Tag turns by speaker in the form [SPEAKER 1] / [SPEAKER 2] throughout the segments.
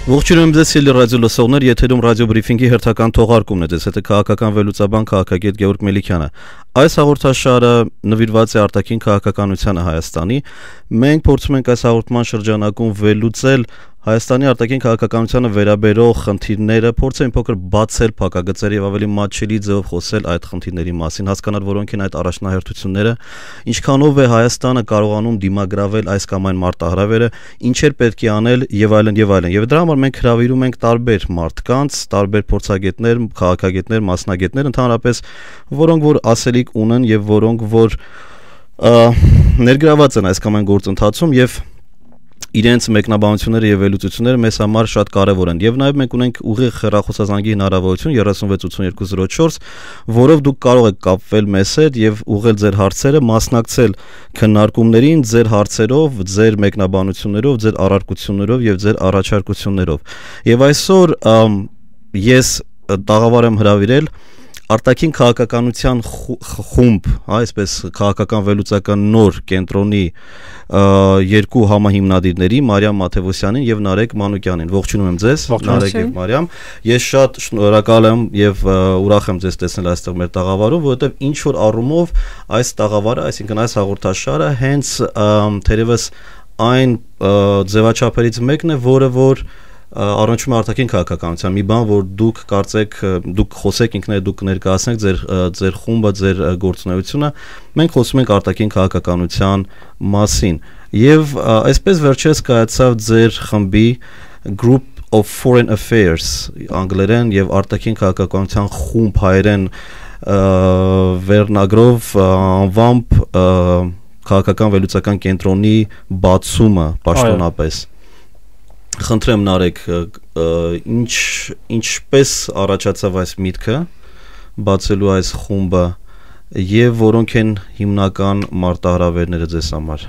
[SPEAKER 1] Ողջունում ձեզ սիրելի ռադիո լսողներ, եթերում ռադիո բրիֆինգի հերթական թողարկումն է, ձեզ հետ է քաղաքական վերլուծաբան քաղաքագետ Գեորգ Մելիքյանը։ Այս հաղորդաշարը նվիրված է արտաքին քաղաքականությանը Հայաստանի։ Մենք փորձում ենք այս հաղորդման շրջանակում վերլուծել Հայաստանի արտաքին քաղաքականությանը վերաբերող խնդիրները, փորձել փոքր բացել փակագծեր եւ ավելի մատչելի ձևով խոսել այդ խնդիրների մասին, հասկանալ որոնք են այդ առաջնահերթությունները, ինչքանով է Հայաստանը կարողանում դիմագրավել այս կամ այն մարտահրավերը, ինչեր պետք է անել եւ այլն եւ այլն։ Եվ դրա համար մենք հրավիրում ենք տարբեր մարդկանց, տարբեր փորձագետներ, քաղաքագետներ, մասնագետներ, ընդհանրապես որոնք որ ասելիք ունեն եւ որոնք որ ներգրաված են այս կամ այն գործընթացում եւ իրենց մեկնաբանությունները եւ վերլուծությունները մեզ համար շատ կարեւոր են եւ նաեւ մենք ունենք ուղիղ հեռախոսազանգի հնարավորություն 368204, որով դուք կարող եք կապվել մեզ հետ եւ ուղղել ձեր հարցերը, մասնակցել քննարկումներին ձեր հարցերով, ձեր մեկնաբանություններով, ձեր առարկություններով եւ ձեր առաջարկություններով։ Եվ այսօր ես տաղավար եմ հրավիրել արտաքին քաղաքականության խումբ, այսպես քաղաքական վերլուծական նոր կենտրոնի երկու համահիմնադիրների Մարիամ Մաթևոսյանին եւ Նարեկ Մանուկյանին։ Ողջունում եմ ձեզ, Նարեկ եւ Մարիամ։ Ես շատ շնորհակալ եմ եւ ուրախ եմ ձեզ տեսնել այստեղ մեր տաղավարում, որովհետեւ ինչ որ առումով այս տաղավարը, այսինքն այս հաղորդաշարը հենց թերևս այն ձևաչափերից մեկն է, որը որ առնչվում է արտաքին քաղաքականության, մի բան, որ դուք կարծեք, դուք խոսեք ինքներդ, դուք ներկայացնեք ձեր խումբը, ձեր գործունեությունը, մենք խոսում ենք արտաքին քաղաքականության մասին։ Եվ այսպես վերջերս կայացավ ձեր խմբի Group of Foreign Affairs անգլերեն եւ արտաքին քաղաքականության խումբ հայերեն վերնագրով անվամբ քաղաքական վերլուծական կենտրոնի բացումը պաշտոնապես։ Խնդրեմ Նարեկ, ինչպես առաջացավ այս միտքը բացելու այս խումբը եւ որոնք են հիմնական մարտահրավերները ձեզ համար։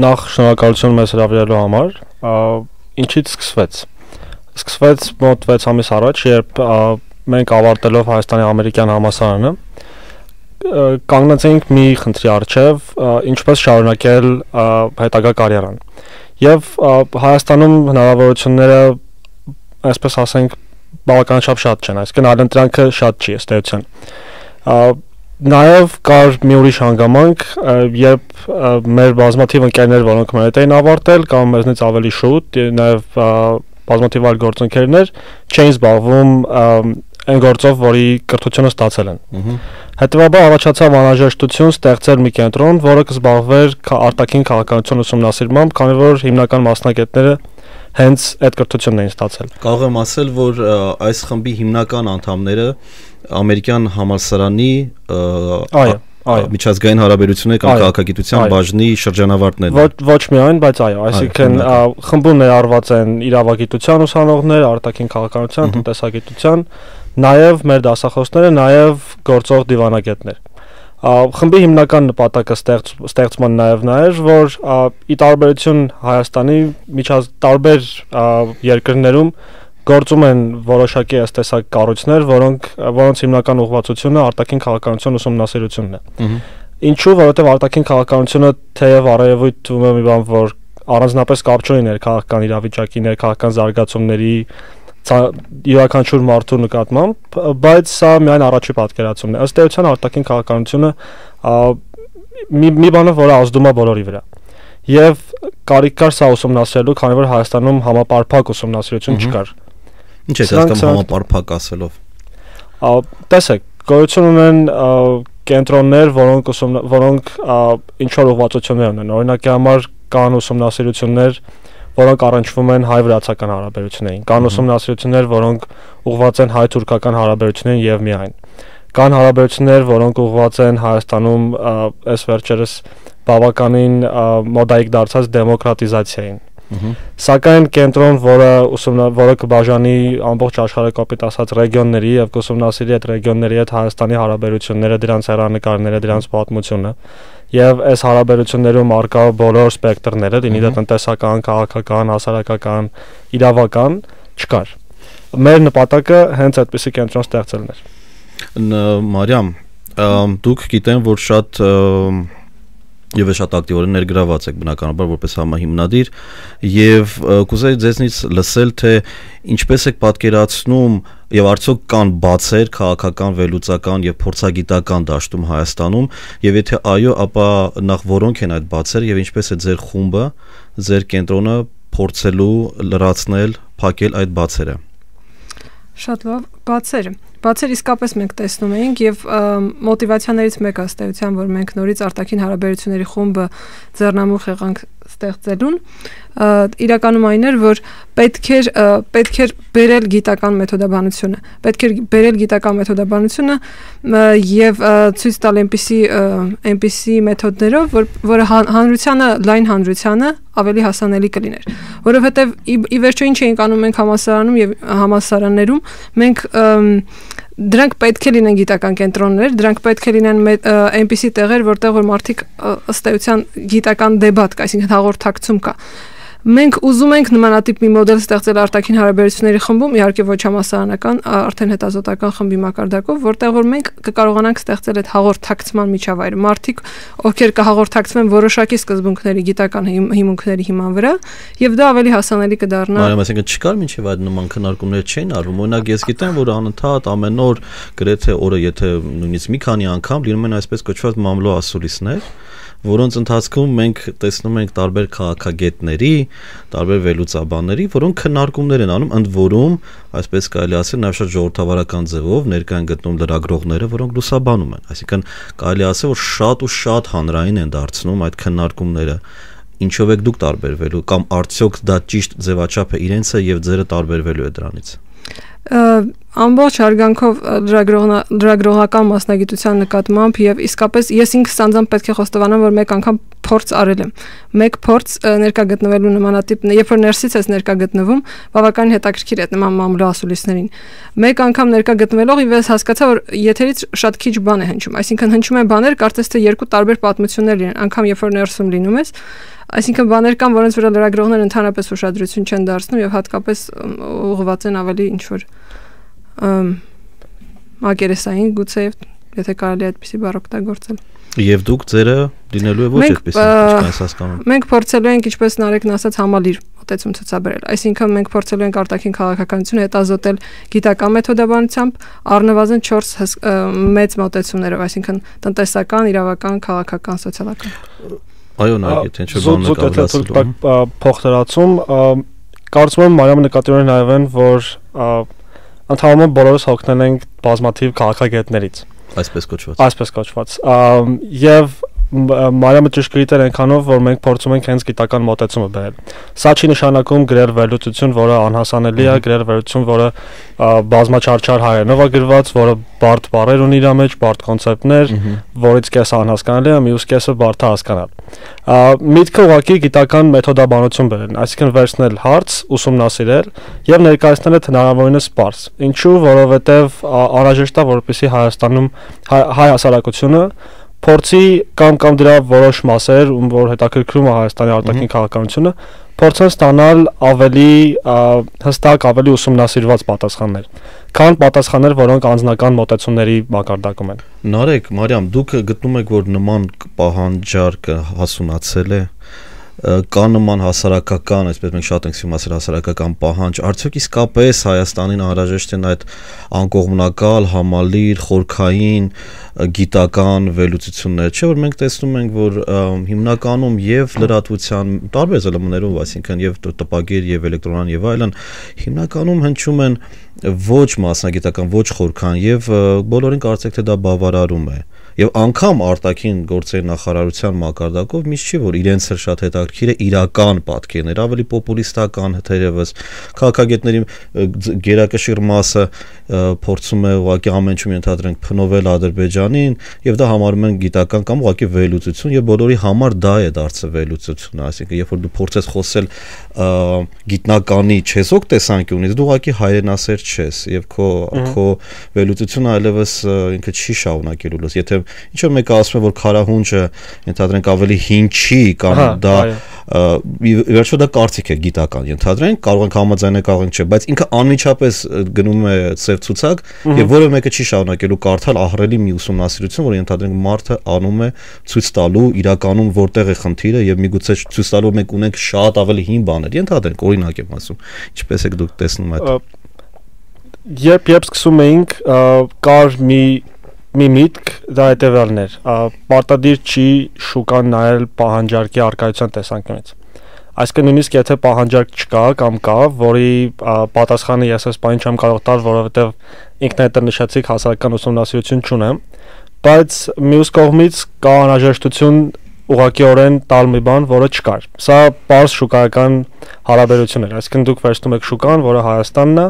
[SPEAKER 2] Նախ շնորհակալություն մեզ հրավիրելու համար։ Ինչից սկսվեց։ Սկսվեց մոտ 6 ամիս առաջ, երբ մենք ավարտելով Հայաստանի ամերիկյան համալսարանը կանգնեցինք մի խնդրի առջև, ինչպես շարունակել հետագա կարիերան։ Եվ Հայաստանում հնարավորությունները, այսպես ասենք, բավականաչափ շատ չեն, այսինքն այլընտրանքը շատ չի ըստ էության։ Նաև կար մի ուրիշ հանգամանք, երբ մեր բազմաթիվ ընկերներ, որոնք մեր հետ էին ավարտել կամ մեզնից ավելի շուտ, նաև բազմաթիվ այլ գործընկերներ չէին զբաղվում այն գործով, որի կրթությունը ստացել են։ Հետևաբար առաջացավ անհրաժեշտություն ստեղծել մի կենտրոն, որը կզբաղվեր արտաքին քաղաքականություն ուսումնասիրմամբ, քանի որ հիմնական մասնագետները հենց այդ կրթությունն էին ստացել։
[SPEAKER 1] Կարող եմ ասել, որ այս խմբի հիմնական անդամները ամերիկյան համալսարանի միջազգային հարաբերություններ կամ քաղաքագիտության բաժնի շրջանավարտներ են։
[SPEAKER 2] Ոչ միայն, բայց այո, այսինքն խմբում ներառված են իրավագիտության ուսանողներ, արտաքին քաղաքականության, տնտեսագիտության, նաև մեր դասախոսները, նաև գործող դիվանագետներ։ Խմբի հիմնական նպատակը ստեղծման նաև էր, որ ի տարբերություն Հայաստանի տարբեր երկրներում գործում են որոշակի տեսակ կառույցներ, որոնց հիմնական ուղղվածությունը արտաքին քաղաքականություն ուսումնասիրությունն է։ Ինչու՞, որովհետև արտաքին քաղաքականությունը թեև առավոտ թվում է մի բան, որ առանձնապես կապ չունի ներքաղաքական իրավիճակի, ներքաղաքական զարգացումների յուրաքանչյուր մարդու նկատմամբ, բայց սա միայն առաջի պատկերացումն է։ Ըստ էության արտաքին քաղաքականությունը մի բան է, որը ազդում է բոլորի վրա։ Եվ կարիք կար սա ուսումնասիրելու, քանի որ Հայաստանում համապարփակ ուսումնասիրություն չկար։
[SPEAKER 1] Ինչ է հասկանում համապարփակ ասելով։
[SPEAKER 2] Տեսեք, գոյություն ունեն կենտրոններ, որոնք ինչ որ ուղղվածություններ ունեն։ Օրինակի համար կան ուսումնասիրություններ, որոնք առնչվում են հայ-վրացական հարաբերություններին, կան ուսումնասիրություններ, որոնք ուղղված են հայ-թուրքական հարաբերություններին եւ միայն։ Կան հարաբերություններ, որոնք ուղղված են Հայաստանում այս վերջերս բավականին մոդայիկ դարձած դեմոկրատիզացիային։ Սակայն կենտրոն, որը կբաժանի ամբողջ աշխարհի կապիտ ասած ռեգիոնների եւ կուսումնասիրի այդ ռեգիոնների հետ Հայաստանի հարաբերությունները, դրանց հեռանկարները, դրանց պատմությունը եւ այս հարաբերություններում արկա բոլոր սպեկտրները, դինի դա տնտեսական, քաղաքական, հասարակական, իրավական չկար։ Մեր նպատակը հենց այդպիսի կենտրոն ստեղծելն էր։
[SPEAKER 1] Մարիամ, դուք գիտեմ, որ շատ Եվ շատ ակտիվորեն ներգրաված եք բնականաբար որպես համահիմնադիր եւ կուզեի ձեզնից լսել թե ինչպես եք պատկերացնում եւ արդյոք կան բացեր քաղաքական, վերլուծական եւ փորձագիտական դաշտում Հայաստանում եւ եթե այո, ապա նախ որոնք են այդ բացերը եւ ինչպես է ձեր խումբը, ձեր կենտրոնը փորձելու լրացնել, փակել այդ բացերը։
[SPEAKER 3] Շատ լավ, բացեր իսկապես մենք տեսնում էինք եւ մոտիվացիաներից մեկը ըստ էության, որ մենք նորից արտաքին հարաբերությունների խումբը ձեռնամուխ եղանք ստեղծելուն, իրականում այն էր, որ պետք էր բերել գիտական մեթոդաբանությունը, եւ ցույց տալ այնպիսի մեթոդներով, որը լայն հանրությանը ավելի հասանելի կլիներ, որովհետեւ ի վերջո ինչ էինք անում մենք համալսարանում եւ համալսարաններում, մենք դրանք պետք է լինեն գիտական կենտրոններ, դրանք պետք է լինեն այնպիսի տեղեր, որտեղ որ մարդիկ ըստ էության գիտական դեբատ կա, այսինքն հաղորդակցում կա։ Մենք ուզում ենք նմանատիպ մի մոդել ստեղծել արտաքին հարաբերությունների խմբում, իհարկե ոչ համալսարանական, արդեն հետազոտական խմբի մակարդակով, որտեղ որ մենք կկարողանանք ստեղծել այդ հաղորդակցման միջավայրը։ Մարդիկ, ովքեր կհաղորդակցվեն որոշակի սկզբունքների, գիտական հիմունքների հիման վրա, եւ դա ավելի հասանելի կդառնա։
[SPEAKER 1] Մարիամ, այսինքն չկար մինչեւ այդ նման քննարկումներ չէին արվում։ Օրինակ ես գիտեմ, որ անընդհատ ամեն օր գրեթե օրը, եթե նույնիսկ մի քանի անգամ լինում են այսպես կոչված մամլո ասուլիսներ, որոնց ընթացքում մենք տեսնում ենք տարբեր քաղաքագետների, տարբեր վերլուծաբանների, որոնք քննարկումներ են անում, ընդ որում, այսպես կարելի ասել, նաև շատ ժողովրդավարական ձևով ներկա են գտնում լրագրողները, որոնք լուսաբանում են։ Այսինքն կարելի ասել, որ շատ ու շատ հանրային են դարձնում այդ քննարկումները։ Ինչով եք դուք տարբերվելու կամ արդյոք դա ճիշտ ձևաչափ է իրենցը եւ ձերը տարբերվելու է դրանից։
[SPEAKER 3] Ամբողջ հարգանքով լրագրողական մասնագիտության նկատմամբ եւ իսկապես ես ինքս անձամբ պետք է խոստովանեմ, որ մեկ անգամ փորձ արել եմ։ Մեկ փորձ ներկա գտնվելու նմանատիպ, երբ որ ներսից ես ներկա գտնվում, բավականին հետաքրքիր է նման մամլո ասուլիսներին։ Մեկ անգամ ներկա գտնվելով ես հասկացա, որ եթերից շատ քիչ բան է հնչում, այսինքն հնչում են բաներ, կարծես թե երկու տարբեր պատմություններ լինեն, անգամ երբ որ ներսում լինում ես, այսինքն բաներ կան, որոնց վրա լրագրողները ընդհանրապես ուշադրություն չեն դարձնում եւ հատկապես ուղղված են ավելի ինչ որ մակերեսային գուցե եթե կարելի է այդպիսի բառ օգտագործել։ Եվ
[SPEAKER 1] դուք ձերը դինելու է ոչ այդպիսի, ինչպես հասկանում։
[SPEAKER 3] Մենք փորձելու ենք, ինչպես Նարեկն ասաց, համալիր մոտեցում ցուցաբերել։ Այսինքն մենք փորձելու ենք արտաքին քաղաքականությունը հետազոտել գիտական մեթոդաբանությամբ, առնվազն 4 մեծ մոտեցումներով, այսինքն տնտեսական, իրավական, քաղաքական, սոցիալական։
[SPEAKER 1] Այո, նայեք, թե ինչ բան
[SPEAKER 2] նկատի փոխդրացում, կարծում եմ Մարիամը նկատի ունի նաև այն, որ ընդհանրապես բոլորս հոգնել ենք բազմաթիվ քաղաքագետներից, այսպես կոչված, եւ Մարիամը ճշգրիտ էր այնքանով, որ մենք փորձում ենք հենց գիտական մոտեցումը բերել։ Սա չի նշանակում գրել վերլուծություն, որը անհասանելի է, գրել վերլուծություն, որը բազմաչարչար հայերենով է գրված, որը բարդ բառեր ունի իր մեջ, բարդ կոնցեպտներ, որից կեսը անհասկանալի է, մյուս կեսը բարդ է հասկանալ։ Միտքը ուղղակի գիտական մեթոդաբանություն բերել, այսինքն վերցնել հարց, ուսումնասիրել եւ ներկայացնել այդ հնարավորինս պարզ։ Ինչու՞, որովհետեւ անհրաժեշտ է, որպեսզի Հայաստանում հայ հասարակությունը փորձի կամ դրա որոշ մասեր, որ հետաքրքրում է Հայաստանի արտաքին քաղաքականությունը, փորձեն ստանալ ավելի հստակ, ավելի ուսումնասիրված պատասխաններ, քան պատասխաններ, որոնք անձնական մոտեցումների մակարդակում են։
[SPEAKER 1] Նարեկ, Մարիամ, դուք գտնում եք, որ նման պահանջարկը հասունացել է, կա նման հասարակական, այսպես մենք շատ ենք սիրում ասել հասարակական պահանջ, արդյոք իսկապես Հայաստանին անհրաժեշտ են այդ անկողմնակալ, համալիր, խորքային գիտական վերլուծություններ, չէ՞ որ մենք տեսնում ենք, որ հիմնականում եւ լրատվության տարբեր զլմներով, այսինքն եւ տպագիր եւ էլեկտրոնան եւ այլն, հիմնականում հնչում են ոչ մասնագիտական, ոչ խորքան եւ բոլորին կարծեք թե դա բավարարում է։ Եվ անգամ արտաքին գործերի նախարարության մակարդակով միշտ չի որ իրենց էլ շատ հետաքրքիր է իրական պատկերներ, ավելի պոպուլիստական թերևս քաղաքագետների գերակշիռ մասը փորձում է ուղղակի ամենչում ենթադրենք փնովել Ադրբեջանին եւ դա համարում են գիտական կամ ուղղակի վերլուծություն եւ բոլորի համար դա է դարձել վերլուծությունը, այսինքն երբ որ դու փորձես խոսել գիտնականի չեզոք տեսանկյունից դու ուղղակի հայրենասեր չես եւ քո վերլուծությունը այլևս ինքը չի շարունակելու լուս եթե ինչ որ մեկը ասում է որ քարահունջը ենթադրենք ավելի հին չի կամ դա վերջո դա կարծիք է գիտական ենթադրենք կարող ենք համաձայնել կարող ենք չէ բայց ինքը անմիջապես գնում է ծև ցուցակ եւ որևէ մեկը չի շարունակելու կարդալ ահռելի մի ուսումնասիրություն որ ենթադրենք մարդը անում է ցույց տալու իրականում որտեղ է խնդիրը եւ միգուցե ցույց տալու մենք ունենք շատ ավելի հին բաներ ենթադրենք օրինակ եմ ասում ինչպես եք դուք տեսնում այդ
[SPEAKER 2] երբ սկսում էինք կար մի միտք դա հետևյալն էր պարտադիր չի շուկան նայել պահանջարկի արկայության տեսանկյունից այսինքն նույնիսկ եթե պահանջարկ չկա կամ կա որի պատասխանը ես այս բանը չեմ կարող տալ որովհետեւ ինքն այդ նշեցիք հասարակական ուսումնասիրություն չունեմ բայց մյուս կողմից կա անհրաժեշտություն ուղղակիորեն տալ մի բան, որը չկար։ Սա պարզ շուկայական հարաբերություն էր, այսինքն դուք վերցնում եք շուկան, որը Հայաստանն է,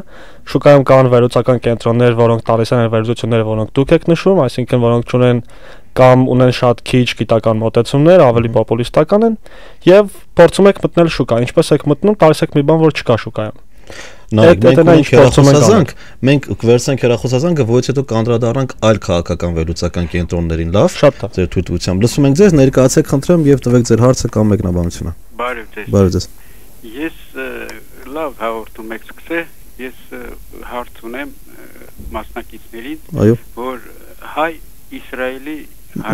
[SPEAKER 2] շուկայում կան վերլուծական կենտրոններ, որոնք տալիս են վերլուծությունները, որոնք դուք եք նշում, այսինքն որոնք չունեն կամ ունեն շատ քիչ գիտական մոտեցումներ, ավելի պոպուլիստական են, եւ փորձում եք մտնել շուկա, ինչպես եք մտնում, տալիս եք մի բան, որ չկա շուկայում։
[SPEAKER 1] Մենք վերցնենք հեռախոսազանգը, որից հետո կանդրադառնանք այլ քաղաքական վերլուծական կենտրոններին, լավ։ Ձեր թույլտվությամբ լսում ենք ձեզ, ներկայացեք խնդրեմ եւ տվեք ձեր հարցը կամ մեկնաբանությունը։ Բարև ձեզ։
[SPEAKER 4] Ես լավ հաղորդում եք սկսե, ես հարց ունեմ մասնակիցներին, որ հայ-իսրայելի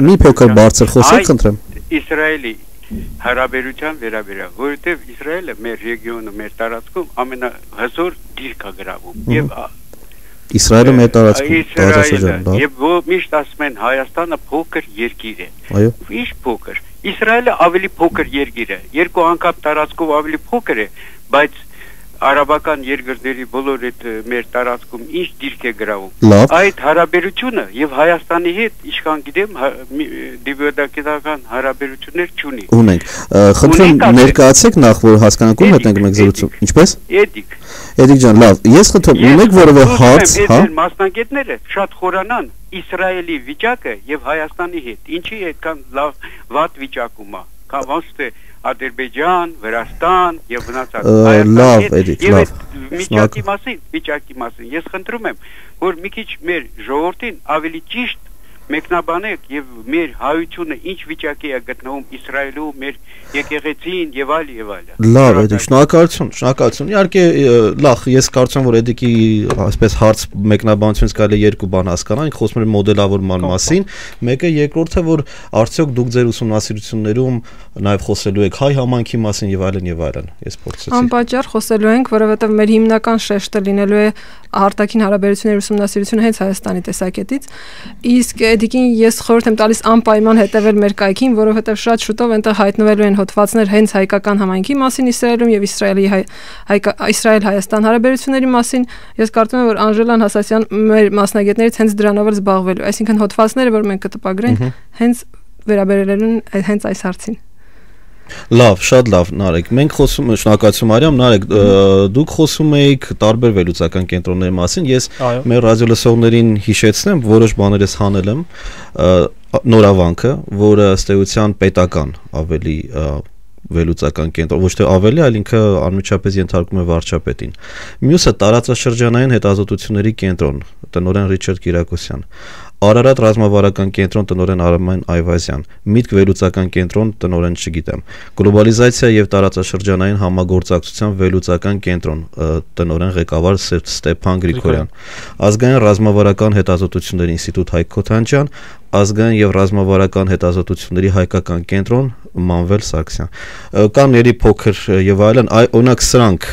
[SPEAKER 1] մի փոքր բարձր խոսեք, խնդրեմ։
[SPEAKER 4] Իսրայելի հարաբերության վերաբերյալ, որովհետև Իսրայելը մեր ռեգիոնում, մեր տարածքում ամենահզոր դիրք է գրավում եւ
[SPEAKER 1] Իսրայելը մեր տարածքում
[SPEAKER 4] եւ միշտ ասում են Հայաստանը փոքր երկիր է։
[SPEAKER 1] Այո։
[SPEAKER 4] Ինչ փոքր։ Իսրայելը ավելի փոքր երկիր է, երկու անգամ տարածքով ավելի փոքր է, բայց արաբական երկրների բոլոր այդ մեր տարածքում ինչ դիրք է գրավում։ Այդ հարաբերությունը եւ Հայաստանի հետ ինչքան գիտեմ դիվերդակետական հարաբերություններ չունի։
[SPEAKER 1] Ունենք։ Խնդրում ներկայացեք նախ որ հասկանանք ում հետ ենք մենք զրուցում։ Ինչպես։ Էդիկ ջան, լավ։ Ես խնդրում ունեք որևէ հարց, հա։
[SPEAKER 4] Մասնագետները շատ խորանան Իսրայելի վիճակը եւ Հայաստանի հետ։ Ինչի այդքան լավ վատ վիճակում է։ Կամ ոնց Ադրբեջան, Վրաստան եւ մնացած
[SPEAKER 1] լավ,
[SPEAKER 4] վիճակի մասին ես խնդրում եմ, որ մի քիչ մեր ժողովրդին ավելի ճիշտ մեկնաբանեք եւ մեր հայությունը ինչ վիճակի է գտնվում Իսրայելում, մեր եկեղեցին եւ այլ եւ այլ։
[SPEAKER 1] Լավ, Էդիկ, շնորհակալություն։ Իհարկե, լավ, ես կարծում որ Էդիկի այսպես հարց մեկնաբանությունից կարելի է երկու բան հասկանալ, ինքը խոսում է մոդելավորման մասին, մեկը երկրորդը որ արդյոք դուք ձեր ուսումնասիրություններում նաեւ խոսելու եք հայ համայնքի մասին եւ այլն եւ այլն։ Ես փորձեցի։
[SPEAKER 3] Անպատճառ խոսելու ենք, որովհետեւ մեր հիմնական շեշտը լինելու է արտաքին հարաբերությունների ուսումնասիրությունը հենց Հայաստանի տեսակետից։ Իսկ Էդիկին ես խորհուրդ եմ տալիս անպայման հետևել մեր կայքին, որովհետև շատ շուտով այնտեղ հայտնվելու են հոդվածներ հենց հայկական համայնքի մասին Իսրայելում եւ Իսրայել-Հայաստան հարաբերությունների մասին։ Ես կարծում եմ, որ Անժելան Հասասյան մեր մասնագետներից հենց դրանով էլ զբաղվելու, այսինքն հոդվածները, որ մենք կտպագրենք, հենց վերաբերելու են հենց այս հարցին։
[SPEAKER 1] Լավ, շատ լավ, Նարեկ։ Մենք խոսում ենք, շնորհակալություն Մարիամ, Նարեկ, դուք խոսում եք տարբեր վերլուծական կենտրոնների մասին։ Ես մեր ռադիոլսողներին հիշեցնեմ, որոշ բաներ ես հանել եմ, Նորավանքը, որը ըստ էության պետական ավելի վերլուծական կենտրոն, ոչ թե ավելի, այլ ինքը անմիջապես ենթարկում է վարչապետին։ Մյուսը տարածաշրջանային հետազոտությունների կենտրոն, տնօրեն Ռիչարդ Կիրակոսյան։ Արարատ ռազմավարական կենտրոն տնօրեն Արմեն Այվազյան, Միտք վերլուծական կենտրոն տնօրեն չգիտեմ, Գլոբալիզացիա եւ տարածաշրջանային համագործակցության վերլուծական կենտրոն տնօրեն ղեկավար Ստեփան Գրիգորյան, Ազգային ռազմավարական հետազոտությունների ինստիտուտ Հայկ Քոթանջյան, Ազգային եւ ռազմավարական հետազոտությունների հայկական կենտրոն Մանվել Սարգսյան։ Կան ելի փոքր եւ այլն, օրինակ սրանք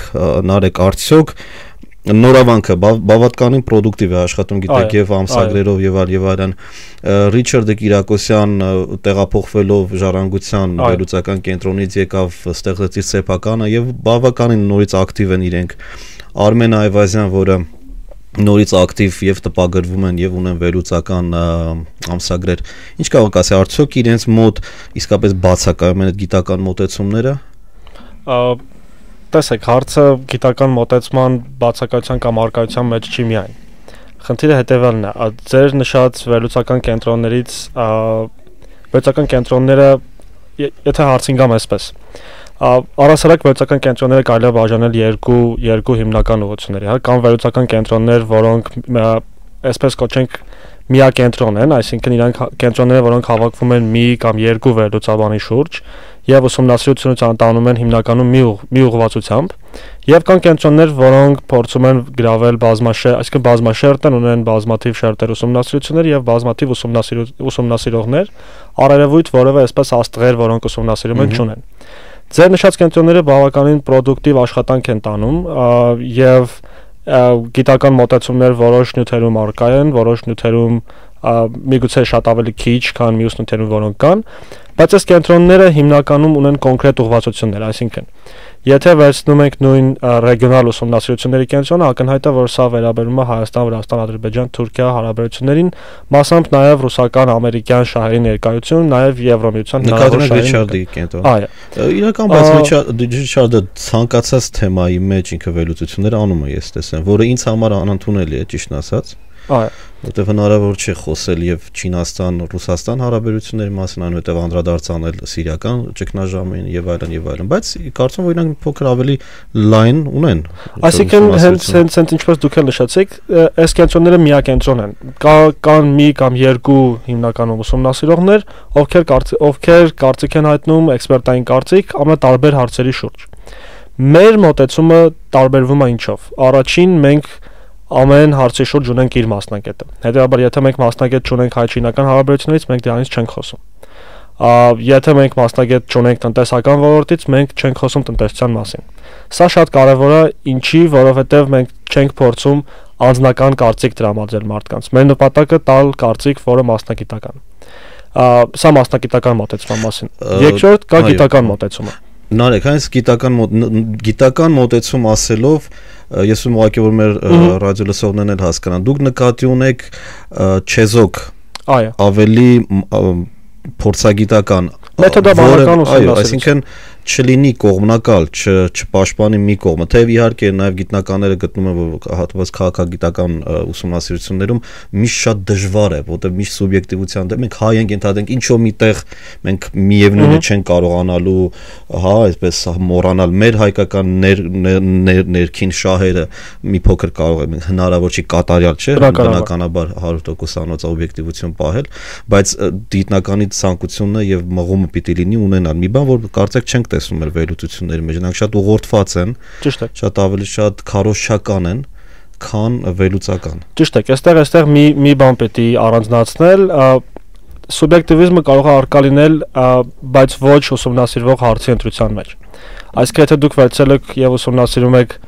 [SPEAKER 1] Նարեկ արդյոք Նորավանքը բավականին պրոդուկտիվ է աշխատում գիտեք եւ ամսագրերով եւ այլն Ռիչարդը Կիրակոսյան տեղափոխվելով ժառանգության վերլուծական կենտրոնից եկավ ստեղծեց իր սեփականը եւ բավականին նորից ակտիվ են իրենք Արմեն Այվազյան որը նորից ակտիվ եւ տպագրվում են եւ ունեն վերլուծական ամսագրեր ինչ կարող ասի արդյոք իրենց մոտ իսկապես բացակայում են այդ գիտական մոտեցումները
[SPEAKER 2] Տեսեք, հարցը գիտական մոտեցման բացակայության կամ արկայության մեջ չի միայն։ Խնդիրը հետևյալն է, ձեր նշած վերլուծական կենտրոններից վերլուծական կենտրոնները, եթե հարցին գամ այսպես, Առասարակ վերլուծական կենտրոնները կարելի է բաժանել երկու հիմնական ուղղությունների, հա, կան վերլուծական կենտրոններ, որոնք այսպես կոչենք միակենտրոն են, այսինքն իրանք կենտրոնները, որոնք հավաքվում են մի կամ երկու վերլուծաբանի շուրջ եւ ուսումնասիրությունից անտանում են հիմնականում մի ուղղվածությամբ, եւ կան կենտրոններ, որոնք փորձում են գրավել այսինքն բազմաշերտ են, ունեն բազմաթիվ շերտեր ուսումնասիրություններ եւ բազմաթիվ ուսումնասիրողներ, առերևույթ որևէ այսպես աստղեր, որոնք ուսումնասիրում են, չունեն։ Ձեր նշած կենտրոնները բավականին պրոդուկտիվ աշխատանք են տանում եւ գիտական մոտեցումներ որոշ նյութերում առկա են, որոշ նյութերում միգուցե շատ ավելի քիչ, քան մյուս նյութերում, որոնք կան, բայց այս կենտրոնները հիմնականում ունեն կոնկրետ ուղղվածություններ, այսինքն եթե վերցնում ենք նույն ռեգիոնալ ուսումնասիրությունների կենտրոնը, ակնհայտ է, որ սա վերաբերում է Հայաստան, Վրաստան, Ադրբեջան, Թուրքիա հարաբերություններին, մասամբ նաև ռուսական, ամերիկյան շահերի ներկայություն, նաև Եվրոմիության հնարավոր
[SPEAKER 1] շահերի կենտրոն։ Իրական բայց Ռիչարդը ցանկացած թեմայի մեջ ինքը վերլուծություններ անում է, ես տեսեմ, որը ինձ համար անընդունելի է, ճիշտն ասած։ Որտեղ հնարավոր չէ խոսել եւ Չինաստան, Ռուսաստան հարաբերությունների մասին, այնուհետեւ անդրադարձ անել սիրիական ճգնաժամին եւ այլն, բայց կարծում եմ, որ իրանք փոքր ավելի լայն ունեն։
[SPEAKER 2] Այսինքն հենց ինչպես դուք էլ նշեցիք, այս կենտրոնները միակենտրոն են։ Կան մի կամ երկու հիմնականում ուսումնասիրողներ, ովքեր կարծիք են հայտնում, էքսպերտային կարծիք ամենատարբեր հարցերի շուրջ։ Մեր մոտեցումը տարբերվում է ինչով։ Առաջին մենք ամեն հարցի շուրջ ունենք իր մասնագետը։ Հետևաբար, եթե մենք մասնագետ չունենք հայ-չինական հարաբերություններից, մենք դրանից չենք խոսում։ Եթե մենք մասնագետ չունենք տնտեսական ոլորտից, մենք չենք խոսում տնտեսության մասին։ Սա շատ կարևոր է, ինչի, որովհետև մենք չենք փորձում անձնական կարծիք տրամադրել մարդկանց։ Մեր նպատակը տալ կարծիք, որը մասնագիտական։ Սա մասնագիտական մոտեցման մասին։ Երկրորդ կա գիտական մոտեցումը։
[SPEAKER 1] Նարեկ, հենց գիտական մոտեցում ասելով, ես ուղղակի որ մեր ռադիոլսողներն էլ հասկանան, դուք նկատի ունեք չեզոք ավելի փորձագիտական
[SPEAKER 2] մեթոդաբանական ուսումնասիրություն,
[SPEAKER 1] այսինքն չլինի կողմնակալ, չպաշտպանի մի կողմը, թեև իհարկե նաև գիտնականները գտնում են, որ հատված քաղաքագիտական ուսումնասիրություններում միշտ շատ դժվար է, որտեղ միշտ սուբյեկտիվության դեմ մենք հայ ենք ընդհանրենք ինչ-որ միտեղ մենք միևնույնը չենք կարողանալու, հա, այսպես մոռանալ մեր հայկական ներքին շահերը մի փոքր կարող է հնարավոր չի կատարյալ չէ, բնականաբար 100% անոց օբյեկտիվություն պահել, բայց գիտնականի ցանկությունը եւ մղումը պիտի լինի ունենալ մի բան, որ կարծեք չենք տեսնում մեր վերլուծությունների մեջ, նրանք շատ ուղղորդված են, շատ ավելի շատ քարոզչական են, քան վերլուծական։
[SPEAKER 2] Ճիշտ է, այստեղ մի բան պետք է առանձնացնել, սուբյեկտիվիզմը կարող է առկա լինել, բայց ոչ ուսումնասիրվող հարցի ընտրության մեջ։ Այսինքն եթե դուք վերցել եք եւ ուսումնասիրում եք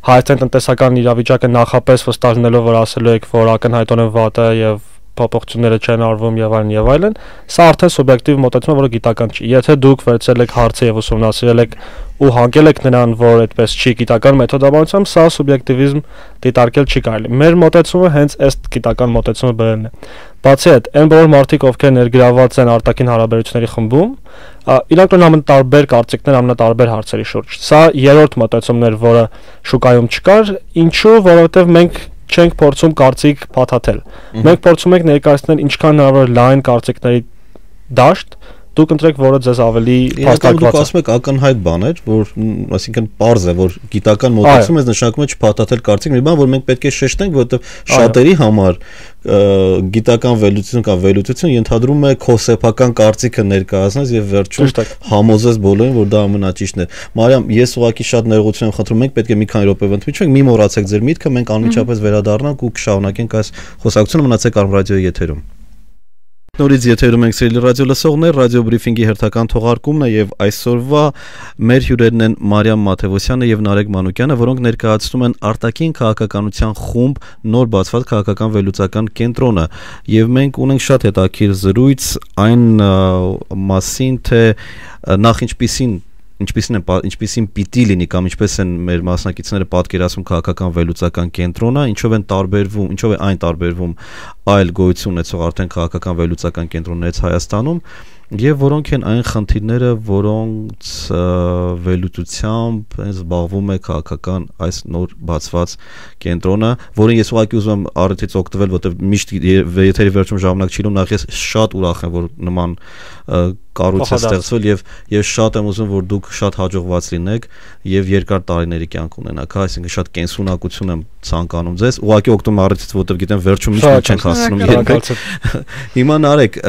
[SPEAKER 2] Հայաստանի տնտեսական իրավիճակը նախապես վստահ լինելով, որ ասելու եք, որ ակնհայտորեն վատ է եւ փոփոխությունները չեն արվում եւ այլն, սա արդեն սուբյեկտիվ մոտեցում է, որը գիտական չի։ Եթե դուք վերցել եք հարցը եւ ուսումնասիրել եք ու հանգել եք նրան, որ այդպես չի գիտական մեթոդաբանությամբ, սա սուբյեկտիվիզմ դիտարկել չի կարելի։ Մեր մոտեցումը հենց այս գիտական մոտեցումը բերելն է։ Բացի այդ, այն բոլոր մարդիկ, ովքեր ներգրավված են արտաքին հարաբերությունների խմբում, իրանք ունեն ամենատարբեր կարծիքներ ամենատարբեր հարցերի շուրջ։ Սա երրորդ մոտեցումն էր, որը շուկայում չկար, ինչու, որովհետեւ մենք չենք փորձում կարծիք փաթաթել։ Մենք փորձում ենք ներկայացնել ինչքան հնարավոր լայն կարծիքների դաշտ, դուք ընտրեք, որը ձեզ ավելի փաստարկված է։
[SPEAKER 1] Դուք ասում եք ակնհայտ բաներ, որ այսինքն պարզ է, որ գիտական մոտեցում է նշանակում է չփաթաթել կարծիք, մի բան, որ մենք պետք է շեշտենք, որովհետև շատերի համար գիտական վերլուծություն կամ վերլուծություն ենթադրում է քո սեփական կարծիքը ներկայացնես եւ վերջում համոզես բոլորին, որ դա ամենաճիշտն է։ Մարիամ, ես ուղղակի շատ ներողություն եմ խնդրում, մենք պետք է մի քանի րոպե ընդմիջենք, մի մոռացեք ձեր միտքը, մենք անմիջապես վերադառնանք ու կշարունակենք այս խոսակցությունը, մնացեք Արմ ռադիոյի եթերում։ Նորից եթերում ենք սիրելի ռադիո լսողներ, ռադիո բրիֆինգի հերթական թողարկումն է եւ այսօրվա մեր հյուրերն են Մարիամ Մաթևոսյանը եւ Նարեկ Մանուկյանը, որոնք ներկայացնում են արտաքին քաղաքականության խումբ նոր բացված քաղաքական վերլուծական կենտրոնը եւ մենք ունենք շատ հետաքրքիր զրույց այն մասին, թե նախ ինչպիսին պիտի լինի կամ ինչպես են մեր մասնակիցները պատկերացնում քաղաքական վերլուծական կենտրոնը, ինչով է այն տարբերվում այլ գոյություն ունեցող արդեն քաղաքական վերլուծական կենտրոններից Հայաստանում եւ որոնք են այն խնդիրները, որոնց վերլուծությամբ զբաղվում է քաղաքական այս նոր բացված կենտրոնը, որին ես ուղղակի ուզում եմ առիթից օգտվել, որտեղ միշտ եթերի վերջում ժամանակ չի լինում, նախ ես շատ ուրախ եմ, որ նման կառույց է ստեղծվել եւ շատ եմ ուզում որ դուք շատ հաջողված լինեք եւ երկար տարիների կյանք ունենաք, այսինքն շատ կենսունակություն եմ ցանկանում ձեզ։ Ուղղակի օգտվում առիթից, որովհետեւ գիտեմ վերջում միշտ չենք հասնում երբեք։ Հիմա Նարեկ,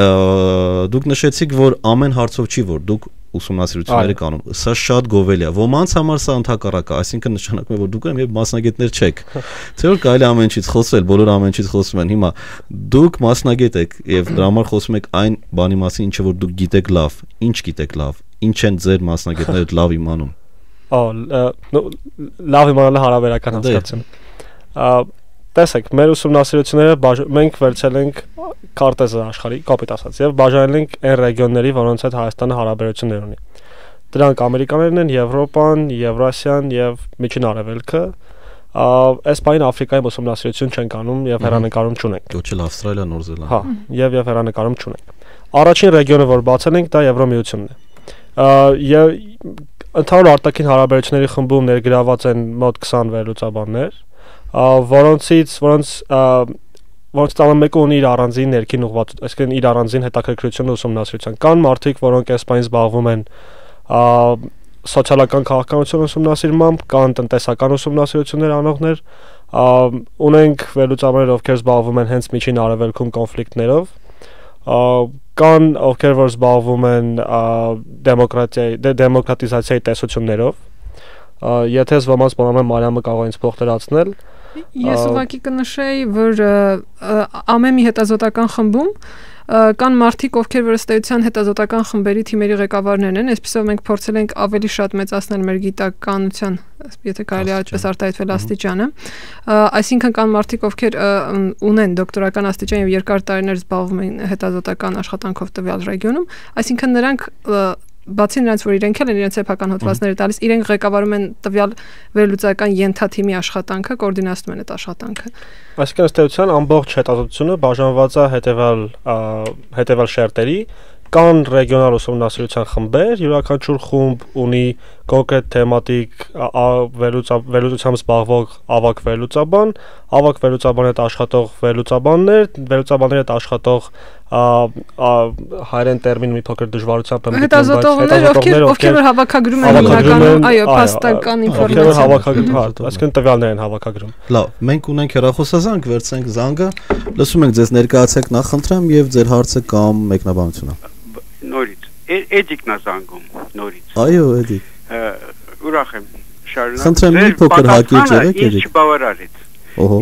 [SPEAKER 1] դուք նշեցիք, որ ամեն հարցով չի, որ դուք ուսումնասիրությունները կանում։ Սա շատ գովելի է։ Ոմանց համար սա ընդհակառակ է, այսինքն նշանակում է, որ դուք եւ մասնագետներ չեք։ Թե որ կարելի ամեն ինչից խոսել, բոլորը ամեն ինչից խոսում են։ Հիմա դուք մասնագետ եք եւ դրա համար խոսում եք այն բանի մասին, ինչը որ դուք գիտեք լավ, ինչ գիտեք լավ, ինչ են ձեր մասնագետները լավ իմանում։
[SPEAKER 2] Լավ իմանալը հարաբերական հասկացություն։ Տեսեք, մեր ուսումնասիրությունները մենք վերցել ենք քարտեզը աշխարհի, կապիտ ասած, եւ բաժանել ենք այն ռեգիոնների, որոնց հետ Հայաստանը հարաբերություններ ունի։ Դրանք Ամերիկաներն են, Եվրոպան, Եվրասիան եւ Միջին Արևելքը։ Այս բանը Աֆրիկայում ուսումնասիրություն չենք անում եւ հեռանկարում չունենք։
[SPEAKER 1] Ոչ էլ Ավստրալիա, Նոր Զելանդիա։
[SPEAKER 2] Հա, եւ հեռանկարում չունենք։ Առաջին ռեգիոնը, որ բացել ենք, դա Եվրոմիությունն է։ Եւ ընդհանուր արտաքին հարաբերությունների խմբում ներգրաված են մոտ 20 վերլուծաբաններ, որոնց տանը մեկը ունի իր առանձին ներքին ուղղված, այսինքն իր առանձին հետաքրքրությունը ուսումնասիրության։ Կան մարդիկ, որոնք այս բանից զբաղվում են սոցիալական քաղաքականություն ուսումնասիրմամբ, կան տնտեսական ուսումնասիրություններ անողներ, ունենք վերլուծաբաններ, ովքեր զբաղվում են հենց Միջին Արևելքում կոնֆլիկտներով, կան ովքեր որ զբաղվում են դեմոկրատիզացիայի տեսություններով։ Եթե ոմանց բանալը Մարիամը կարող է ինձ փոխտերացնել։
[SPEAKER 3] Ես ուղղակի կնշեի, որ ամեն մի հետազոտական խմբում կան մարդիկ, ովքեր որ ըստ էության հետազոտական խմբերի թիմերի ղեկավարներն են, այսպեսով մենք փորձել ենք ավելի շատ մեծացնել մեր գիտականության, եթե կարելի է այդպես արտահայտվել աստիճանը, այսինքն կան մարդիկ, ովքեր ունեն դոկտորական աստիճան եւ երկար տարիներ զբաղվում են հետազոտական աշխատանքով տվյալ ռեգիոնում, այսինքն նրանք բացի նրանց, որ իրենք են իրենց սեփական հոդվածները տալիս, իրենք ղեկավարում են տվյալ վերլուծական ենթաթիմի աշխատանքը, կոորդինացնում են այդ աշխատանքը։
[SPEAKER 2] Այսինքն ըստ էության ամբողջ հետազոտությունը բաժանված է հետևյալ շերտերի, կան ռեգիոնալ ուսումնասիրության խմբեր, յուրաքանչյուր խումբ ունի կոնկրետ թեմատիկ վերլուծությամբ զբաղվող ավագ վերլուծաբանի հետ աշխատող վերլուծաբանների հետ աշխատող հայերեն տերմին մի փոքր դժվարությամբ եմ
[SPEAKER 3] հետազոտողներ, ովքեր հավաքագրում են հիմնականում, այո, փաստական ինֆորմացիա,
[SPEAKER 2] այսինքն տվյալներ են հավաքագրում։
[SPEAKER 1] Լավ, մենք ունենք հեռախոսազանգ, վերցենք զանգը, լսում ենք ձեզ, ներկայացեք նախ խնդրեմ եւ ձեր հարցը կամ մեկնաբանությունը։
[SPEAKER 4] Նորից, Էդիկն է զանգում, նորից։
[SPEAKER 1] Այո, Էդիկ։
[SPEAKER 4] Ուրախ եմ, շարունակ։
[SPEAKER 1] Խնդրեմ մի փոքր հակիրճ եղեք,
[SPEAKER 4] Էդիկ։ Ինչ բավարարեց։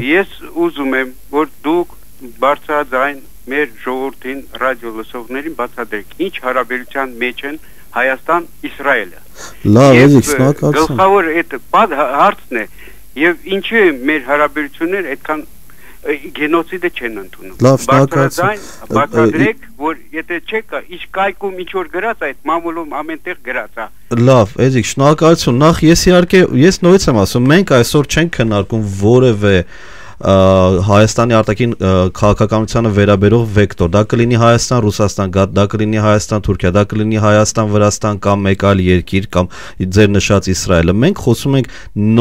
[SPEAKER 4] Ես ուզում եմ, որ դուք բարձրաձայն մեր ժողովրդին ռադիո լսողներին բացատրեք, ինչ հարաբերության մեջ են Հայաստան-Իսրայելը։
[SPEAKER 1] Լավ, Էդիկ, շնորհակալություն։
[SPEAKER 4] Գլխավոր այդ հարցն է, եւ ինչու մեր հարաբերությունները այդքան գենոցիդը չեն ընդունում։
[SPEAKER 1] Լավ, շնորհակալություն։
[SPEAKER 4] Բացատրեք, որ եթե չկա, ինչ կայքում ինչ որ գրած այդ մամուլում ամենտեղ գրած է։
[SPEAKER 1] Լավ, Էդիկ, շնորհակալություն։ Նախ ես իհարկե նույնից եմ ասում, մենք այսօր չենք քննարկում որևէ Հայաստանի արտաքին քաղաքականությանը վերաբերող վեկտոր, դա կլինի Հայաստան, Ռուսաստան, դա կլինի Հայաստան, Թուրքիա, դա կլինի Հայաստան, Վրաստան կամ մեկ այլ երկիր կամ ձեր նշած Իսրայելը։ Մենք խոսում ենք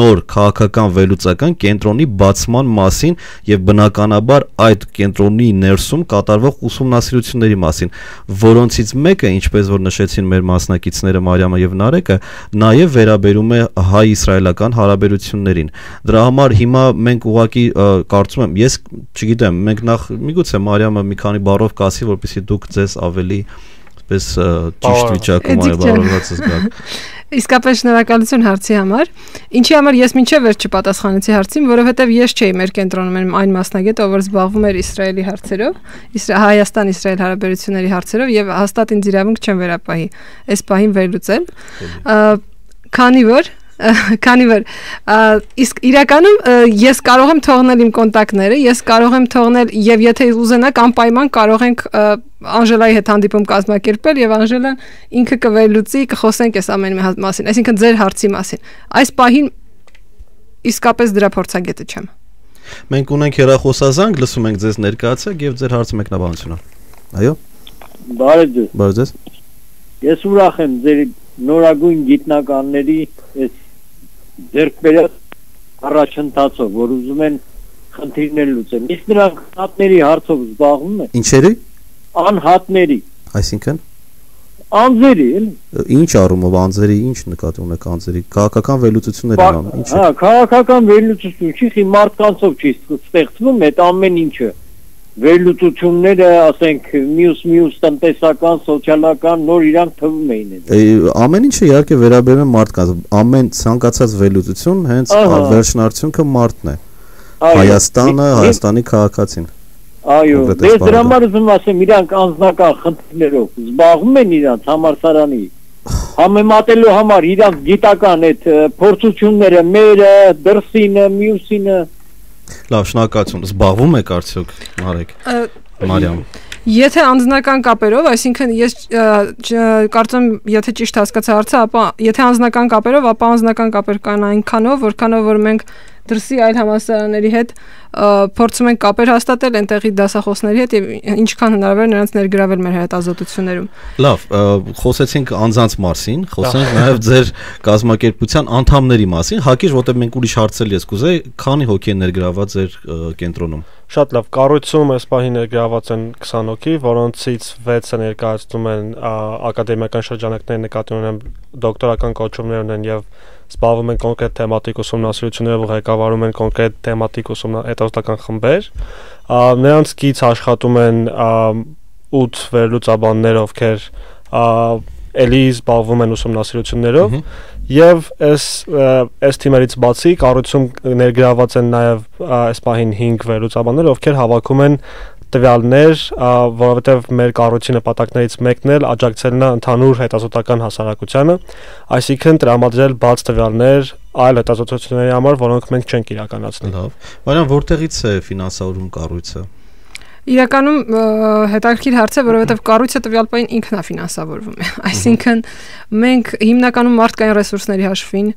[SPEAKER 1] նոր քաղաքական վերլուծական կենտրոնի բացման մասին եւ բնականաբար այդ կենտրոնի ներսում կատարվող ուսումնասիրությունների մասին, որոնցից մեկը, ինչպես որ նշեցին մեր մասնակիցները Մարիամը եւ Նարեկը, նաեւ վերաբերում է հայ-իսրայելական հարաբերություններին։ Դրա համար հիմա մենք ուղղակի կարծում եմ, ես չգիտեմ, մենք նախ միգուցե Մարիամը մի քանի բառով կասի, որպեսզի դուք ձեզ ավելի այսպես ճիշտ վիճակում այլևս զգաք։
[SPEAKER 3] Իսկապես շնորհակալություն հարցի համար։ Ինչի համար ես մինչև վերջ չպատասխանեցի հարցին, որովհետև ես չէի մեր կենտրոնում այն մասնագետը, ով զբաղվում էր Իսրայելի հարցերով, Հայաստան-Իսրայել հարաբերությունների հարցերով եւ հաստատ ինձ իրավունք չեմ վերապահի այս պահին վերլուծել։ Քանի որ իսկ իրականում ես կարող եմ թողնել իմ կոնտակտները, ես կարող եմ թողնել եւ եթե ուզենաք անպայման կարող ենք Անժելայի հետ հանդիպում կազմակերպել եւ Անժելան ինքը կվերլուծի, կխոսենք այս ամենի մասին, այսինքն ձեր հարցի մասին։ Այս պահին իսկապես դրա փորձագետը չեմ։
[SPEAKER 1] Մենք ունենք հեռախոսազանգ, լսում ենք ձեզ, ներկայացեք եւ ձեր հարցը մեկնաբանությունը։ Այո։ Բարև ձեզ։
[SPEAKER 5] Ես ուրախ եմ ձեր նորագույն գիտնականների այս ձեռքբերած առաջընթացով, որ ուզում են խնդիրներ լուծեն։ Իսկ նրանք անհատների հարցով զբաղվում են։
[SPEAKER 1] Ինչերի։
[SPEAKER 5] Անհատների։
[SPEAKER 1] Այսինքն
[SPEAKER 5] Անձերի, էլի։
[SPEAKER 1] Ինչ առումով անձերի, ինչ նկատի ունեք անձերի, քաղաքական վերլուծություններ են անում, ինչ է։
[SPEAKER 5] Հա, քաղաքական վերլուծություն չի, մարդկանցով չի ստեղծվում այդ ամեն ինչը։ Վերլուծությունները, ասենք, մյուս տնտեսական, սոցիալական նոր իրանք թվում էին այդ։
[SPEAKER 1] Ամեն ինչը իհարկե վերաբերում է մարդկանց, ամեն ցանկացած վերլուծություն հենց վերջնարդյունքը մարդն է։ Հայաստանը, Հայաստանի քաղաքացին։
[SPEAKER 5] Այո, դες դրա համար ուզում ասեմ, իրանք անձնական խնդիրներով զբաղվում են իրանք համալսարանի համեմատելու համար իրանք գիտական այդ փորձությունները, մերը, դրսինը, մյուսինը։
[SPEAKER 1] Լավ, շնորհակալություն։ Զբաղվում եք արդյոք, Մարիամ։
[SPEAKER 3] Եթե անձնական կապերով, այսինքն ես կարծում եթե ճիշտ հասկացա հարցը, ապա եթե անձնական կապերով, ապա անձնական կապեր կան այնքանով, որքանով որ մենք դրսի այլ համալսարանների հետ փորձում ենք կապեր հաստատել այնտեղի դասախոսների հետ եւ ինչքան հնարավոր նրանց ներգրավել մեր հետազոտություններում։
[SPEAKER 1] Լավ, խոսեցինք անձանց մասին, խոսենք նաեւ ձեր կազմակերպության անդամների մասին, հակիրճ որտեղ մենք ուրիշ հարցեր ես կուզեի, քանի հոգի են ներգրաված ձեր կենտրոնում։
[SPEAKER 2] Շատ լավ, կառույցում այս պահին ներգրաված են 20 հոգի, որոնցից 6-ը ներկայացնում են ակադեմիական շրջանակների նկատի ունեն դոկտորական կոչումներ ունեն եւ զբաղվում են կոնկրետ թեմատիկ ուսումնասիրություններով, ղեկավարում են կոնկրետ թեմատիկ հետազոտական խմբեր։ Նրանց կից աշխատում են 8 վերլուծաբաններ, ովքեր էլի զբաղվում են ուսումնասիրություններով եւ այս թիմերից բացի կառույցում ներգրաված են նաեւ այս պահին 5 վերլուծաբաններ, ովքեր հավաքում են տվյալներ, որովհետև մեր կառույցի նպատակներից մեկն էլ աջակցելն է ընդհանուր հետազոտական հասարակությանը, այսինքն տրամադրել բաց տվյալներ այլ հետազոտությունների համար, որոնք մենք չենք իրականացնի։
[SPEAKER 1] Լավ։ Մարիամ, որտեղից է ֆինանսավորում կառույցը։
[SPEAKER 3] Իրականում հետաքրքիր հարց է, որովհետև կառույցը տվյալային ինքն է ֆինանսավորվում է։ Այսինքն մենք հիմնականում մարդկային ռեսուրսների հաշվին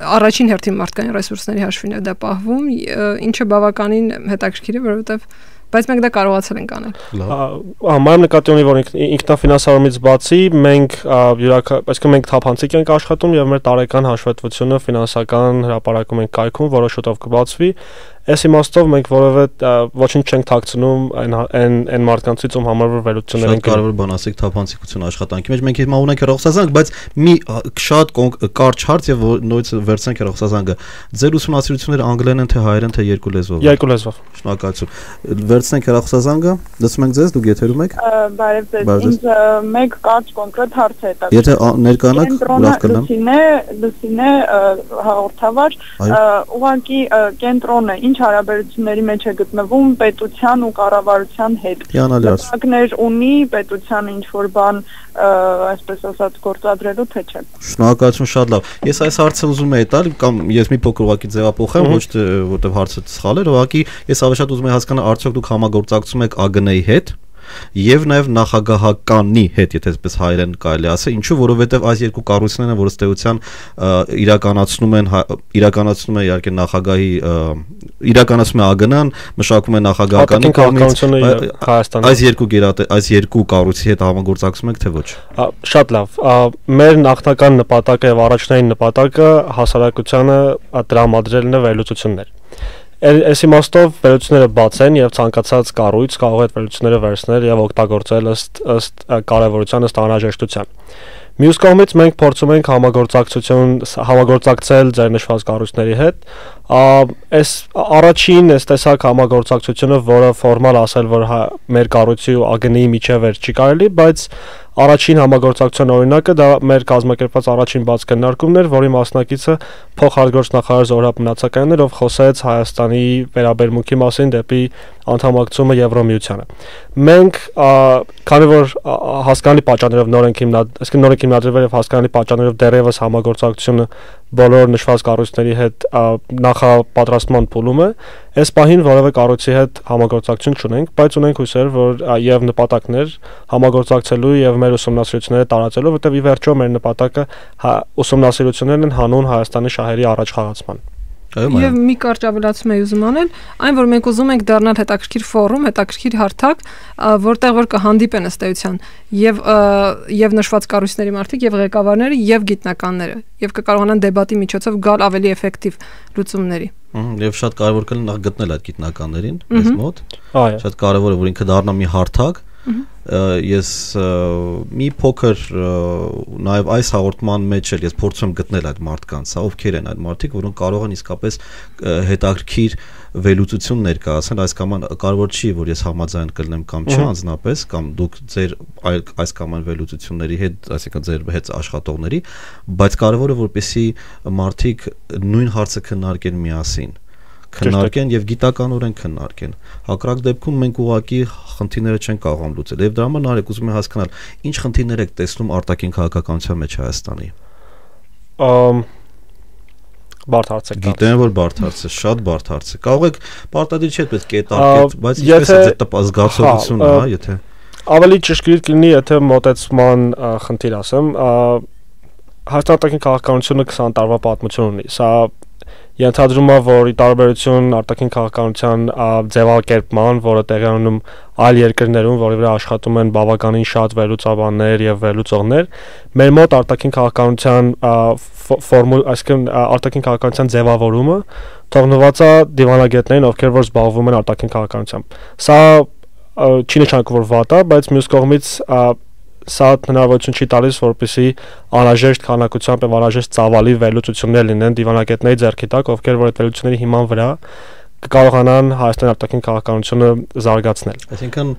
[SPEAKER 3] առաջին հերթին մարդկային ռեսուրսների հաշվին է դա պահվում, ինչը բավականին հետաքրքիր է, որովհետև բայց մենք դա կարողացել ենք անել։
[SPEAKER 2] Համարում նկատի ունի, որ ինքնաֆինանսավորումից բացի մենք այսինքն մենք թափանցիկ ենք աշխատում եւ մեր տարեկան հաշվետվությունը ֆինանսական հրապարակում ենք կայքում, որը շուտով կբացվի։ Այս իմաստով մենք որևէ ոչինչ չենք թաքցնում այն մարդկանցից, ում համար որ վերլուծություններ են
[SPEAKER 1] կարևոր բան ասեք թափանցիկություն աշխատանքի մեջ։ Մենք հիմա ունենք հեռախոսազանգ, բայց մի շատ կարճ հարց եւ նույնիսկ վերցնենք հեռախոսազանգը։ Ձեր ուսումնասիրությունները անգլերեն են թե հայերեն թե երկու լեզվով։
[SPEAKER 2] Երկու լեզվով։
[SPEAKER 1] Շնորհակալություն։ Վերցնենք հեռախոսազանգը, լսում ենք ձեզ, դուք եթերում եք։
[SPEAKER 6] Բարև ձեզ։ Ինձ մեկ կարճ կոնկրետ հարց է տալիս։
[SPEAKER 1] Եթե ներկանաք, լավ կլինի։
[SPEAKER 6] Լուսինե հաղորդավար, ուղղակի կենտրոնը ինչ հարաբերությունների մեջ է գտնվում պետության ու կառավարության հետ։ Նպատակներ ունի պետությանը ինչ որ բան, այսպես ասած, գործադրելու թե չէ։
[SPEAKER 1] Շնորհակալություն, շատ լավ։ Ես այս հարցը ուզում եի տալ կամ ես մի փոքր ուղղակի ձևափոխեմ, ոչ թե որտեղ հարցը սխալ էր, ուղղակի ես ավելի շատ ուզում եի հասկանալ արդյոք դուք համագործակցում եք ԱԳՆ-ի հետ եւ նաեւ նախագահականի հետ, եթե այսպես հայերեն կարելի ասել, ինչու, որովհետեւ այս երկու կառույցներն են, որ ըստ էության իրականացնում է իհարկե նախագահի իրականացնում է ԱԳՆ-ն, մշակում է նախագահականի կողմից այս երկու կառույցի հետ համագործակցում եք թե ոչ։
[SPEAKER 2] Շատ լավ։ Մեր նախնական նպատակը եւ առաջնային նպատակը հասարակությանը տրամադրելն է վերլուծություններ։ Այս իմաստով վերլուծությունները բաց են եւ ցանկացած կառույց կարող է այդ վերլուծությունները վերցնել եւ օգտագործել ըստ կարեւորության, ըստ անհրաժեշտության։ Մյուս կողմից մենք փորձում ենք համագործակցել ձեր նշված կառույցների հետ։ Այս առաջին այս տեսակ համագործակցությունը, որը ֆորմալ ասել, որ մեր կառույցի ու ԱԳՆ-ի միջև չի կարելի, բայց առաջին համագործակցության օրինակը դա մեր կազմակերպված առաջին բաց քննարկումն էր, որի մասնակիցը փոխարգործ նախարար Զորհաբ Մնացականն էր, ով խոսեց Հայաստանի վերաբերմունքի մասին դեպի անդամակցումը Եվրոմիությանը։ Մենք, քանի որ հասկանալի պատճառներով նոր ենք հիմնադրվել եւ հասկանալի պատճառներով դեռևս համագործակցությունը բոլոր նշված կառույցների հետ նախապատրաստման փուլում է, այս պահին որևէ կառույցի հետ համագործակցություն չունենք, բայց ունենք հույսեր, որ եւ նպատակներ համագործակցելու եւ մեր ուսումնասիրությունները տարածելու, որտեղ ի վերջո մեր նպատակը ուսումնասիրություններն են հանուն Հայաստանի շահերի առաջխաղացման։
[SPEAKER 3] Եվ մի կարճ ավելացում եմ ուզում անել, այն որ մենք ուզում ենք դառնալ հետաքրքիր ֆորում, հետաքրքիր հարթակ, որտեղ որ կհանդիպեն ըստ էության եւ նշված կառույցների մարդիկ եւ ղեկավարները եւ գիտնականները եւ կկարողանան դեբատի միջոցով գալ ավելի էֆեկտիվ լուծումների։
[SPEAKER 1] Եվ շատ կարևոր կլինի նախ գտնել այդ գիտնականներին մեզ մոտ։ Շատ կարևոր է որ ինքը դառնա մի հարթակ Ես մի փոքր նաև այս հաղորդման մեջ էլ ես փորձում եմ գտնել այդ մարդկանց, ովքեր են այդ մարդիկ, որոնք կարող են իսկապես հետաքրքիր վերլուծություն ներկայացնել, այս կամ կարևոր չի, որ ես համաձայն կլինեմ կամ չէ անձնապես, կամ դուք ձեր այս կամ այն վերլուծությունների հետ, այսինքն ձեր հետ աշխատողների, բայց կարևորը որպեսզի մարդիկ նույն հարցը քննարկեն միասին, քննարկեն եւ գիտականորեն քննարկեն։ Հակառակ դեպքում մենք ուղղակի խնդիրները չենք կարողանում լուծել։ Եվ դրա համար Նարեկ ուզում եմ հասկանալ, ինչ խնդիրներ եք տեսնում արտաքին քաղաքականության մեջ Հայաստանի։
[SPEAKER 2] Բարդ հարց է։
[SPEAKER 1] Գիտեմ, որ բարդ հարց է, շատ բարդ հարց է։ Կարող եք պարտադիր չի այդպես կետարկել, բայց ինչպես է ձեր զգացողությունը, հա, եթե
[SPEAKER 2] ավելի ճշգրիտ կլինի, եթե մոտեցման խնդիր ասեմ, Հայաստանի արտաքին քաղաքականությունը 20 տարվա պատմություն ունի։ Սա ենթադրում է, որ ի տարբերություն արտաքին քաղաքականության ձևակերպման, որը տեղի ունենում այլ երկրներում, որի վրա աշխատում են բավականին շատ վերլուծաբաններ եւ վերլուծողներ, մեր մոտ արտաքին քաղաքականության այսինքն արտաքին քաղաքականության ձևավորումը թողնված է դիվանագետներին, ովքեր որ զբաղվում են արտաքին քաղաքականությամբ։ Սա չի նշանակում, որ վատ է, բայց մյուս կողմից սա հնարավորություն չի տալիս, որպեսզի անհրաժեշտ քանակությամբ եւ անհրաժեշտ ծավալի վերլուծություններ լինեն դիվանագետների ձեռքի տակ, ովքեր որ այդ վերլուծությունների հիման վրա կկարողանան Հայաստանի արտաքին քաղաքականությունը զարգացնել։
[SPEAKER 1] Այսինքն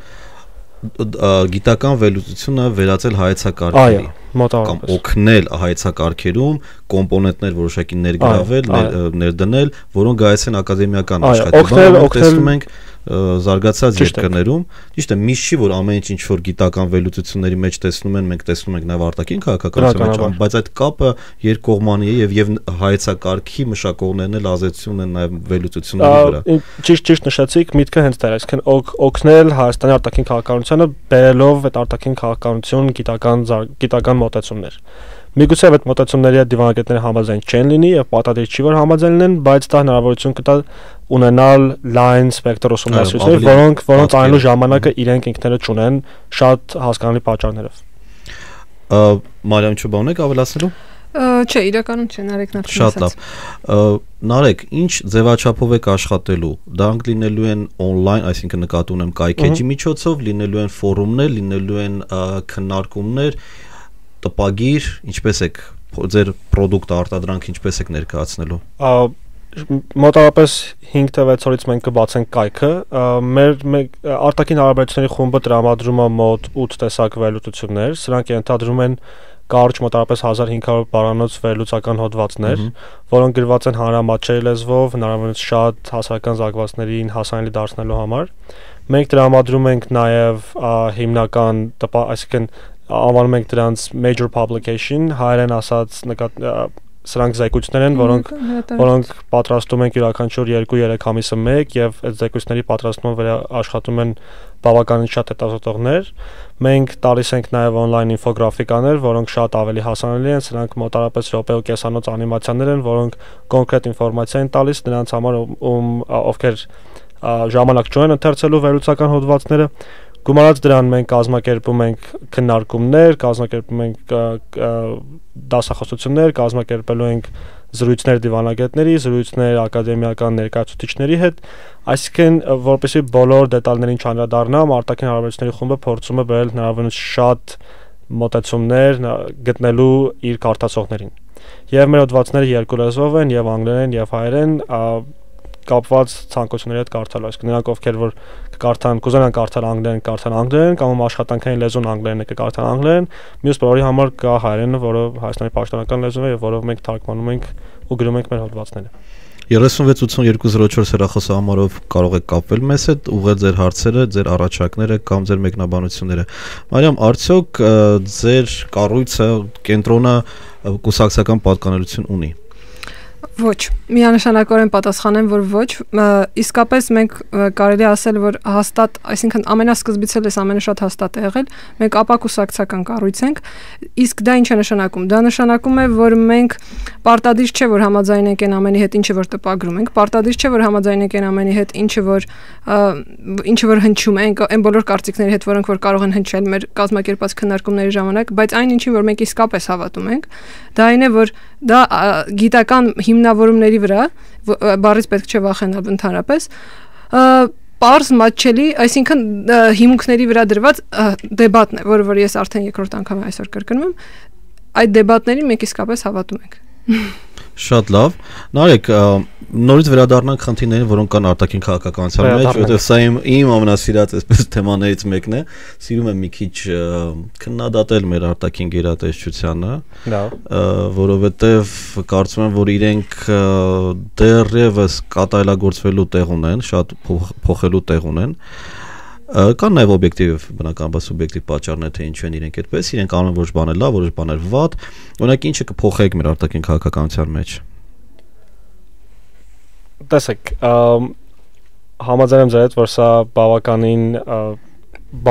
[SPEAKER 1] գիտական վերլուծությունը վերածել հայեցակարգերի կամ օգնել հայեցակարգերում կոմպոնենտներ որոշակի ներգրավել, ներդնել, որոնք գայացել են ակադեմիական աշխատանքով, տեսնում ենք զարգացած երկրներում, ճիշտ է, միշտ չի որ ամեն ինչ որ գիտական վերլուծությունների մեջ տեսնում են, մենք տեսնում ենք նաև արտաքին քաղաքականության մեջ, բայց այդ կապը երկկողմանի է եւ հայեցակարգի մշակողներն էլ ազդեցություն են նաև վերլուծությունների վրա։
[SPEAKER 2] Ճիշտ նշեցիք, միտքը հենց դա է, այսինքն օգնել Հայաստանի արտաքին քաղաքականությանը բերելով այդ արտաքին քաղաքականություն գիտական մոտեցումներ։ Միգուցե այդ մոտեցումների հետ դիվանագետները համաձայն չեն լինի եւ պատահել չի որ համաձայն լինեն, բայց դա հնարավորություն կտա ունենալ լայն սպեկտր ուսումնասիրություններ, որոնց այնու ժամանակը իրենք ինքներդ չունեն շատ հասկանալի պատճառներով։
[SPEAKER 1] Մարիամ, ինչ բան եք ավելացնելու։
[SPEAKER 3] Չէ, իրականում չէ, Նարեկն արդեն
[SPEAKER 1] ասաց։ Շատ լավ։ Նարեկ, ինչ ձևաչափով եք աշխատելու։ Դրանք լինելու են on-line, այսինքն նկատի ունեմ կայքեջի միջոցով, լինելու են ֆորումներ, լինելու են քննարկումներ, տպագիր, ինչպես եք ձեր product արտադրանքը ինչպես եք ներկայացնելու։
[SPEAKER 2] Մոտավորապես 5-6 օրից մենք կբացենք կայքը։ Մեր արտաքին հարաբերությունների խումբը տրամադրում է մոտ 8 տեսակ վերլուծություններ, սրանք ենթադրում են կարճ մոտավորապես 1500 բառանոց վերլուծական հոդվածներ, որոնք գրված են հանրամատչելի լեզվով, հնարավորինս շատ հասարակական զարգացումներին հասանելի դարձնելու համար։ Մենք տրամադրում ենք նաև հիմնական, այսինքն անվանում ենք դրանց major publication, հայերեն ասած սրանք զեկույցներ են, որոնք պատրաստում ենք յուրաքանչյուր 2-3 ամիսը մեկ եւ այդ զեկույցների պատրաստման վրա աշխատում են բավականին շատ հետազոտողներ։ Մենք տալիս ենք նաև on-line ինֆոգրաֆիկաներ, որոնք շատ ավելի հասանելի են, սրանք մոտավորապես րոպե ու կեսանոց անիմացիաներ են, որոնք կոնկրետ ինֆորմացիա են տալիս նրանց համար, ովքեր ժամանակ չունեն ընթերցելու վերլուծական հոդվածները։ Գումարած դրան մենք կազմակերպում ենք քննարկումներ, կազմակերպում ենք դասախոսություններ, կազմակերպելու ենք զրույցներ դիվանագետների, զրույցներ ակադեմիական ներկայացուցիչների հետ, այսինքն որպեսզի բոլոր դետալներին չանդրադառնամ, արտաքին հարաբերությունների խումբը փորձում է բերել հնարավորինս շատ մոտեցումներ գտնելու իր կարդացողներին։ Եվ մեր հոդվածները երկու լեզվով են, եւ անգլերեն եւ հայերեն, կապված ցանկությունների հետ կարդալու, այսինքն նրանք ովքեր որ կկարդան, կուզենան կարդալ անգլերեն, կամ աշխատանքային լեզուն անգլերենը կկարդան անգլերեն, մյուս բոլորի համար կա հայերենը, որը Հայաստանի պաշտոնական լեզուն է եւ որով մենք թարգմանում ենք ու գրում ենք մեր հոդվածները։
[SPEAKER 1] 368204 հեռախոսահամարով կարող եք կապվել մեզ հետ, ուղղել ձեր հարցերը, ձեր առաջարկները կամ ձեր մեկնաբանությունները։ Մարիամ, արդյոք ձեր կառույցը, կենտրոնը կուսակցական պատկանելություն ունի։
[SPEAKER 3] Ոչ, միանշանակորեն պատասխանեմ, որ ոչ, իսկապես մենք կարելի ասել, որ հաստատ, այսինքն ամենասկզբից էլ էս ամենը շատ հաստատ է եղել, մենք ապակուսակցական կառույց ենք, իսկ դա ինչ է նշանակում։ Դա նշանակում է, որ մենք պարտադիր չէ, որ համաձայնենք այն ամենի հետ, ինչը որ տպագրում ենք, պարտադիր չէ, որ համաձայնենք այն ամենի հետ, ինչը որ հնչում է, այն բոլոր կարծիքների հետ, որոնք որ կարող են հնչել մեր կազմակերպած քննարկումների ժամանակ, բայց այն ինչին որ մենք իսկապես հավատում ենք, դա այն է, որ դա գիտական հիմնավորումների վրա, բառից պետք չէ վախենալ ընդհանրապես, պարզ մատչելի, այսինքն հիմունքների վրա դրված դեբատն է, որը որ ես արդեն երկրորդ անգամ այսօր կրկնում եմ, այդ դեբատներին մենք իսկապես հավատում ենք։
[SPEAKER 1] Շատ լավ։ Նարեկ, նորից վերադառնանք խնդիրներին, որոնք կան արտաքին քաղաքականության մեջ, որովհետև սա իմ ամենասիրած այսպես թեմաներից մեկն է։ Սիրում եմ մի քիչ քննադատել մեր արտաքին գերատեսչությանը, որովհետև կարծում եմ, որ իրենք դեռևս կատարելագործվելու տեղ ունեն, շատ փոխելու տեղ ունեն։ Կան նաև օբյեկտիվ, բնականաբար սուբյեկտիվ պատճառներ, թե ինչու են իրենք այդպես, իրենք անում են որոշ բաներ լավ, որոշ բաներ վատ, օրինակ ինչը կփոխեք մեր արտաքին քաղաքականության մեջ։
[SPEAKER 2] Տեսեք, համաձայն եմ ձեր հետ, որ սա բավականին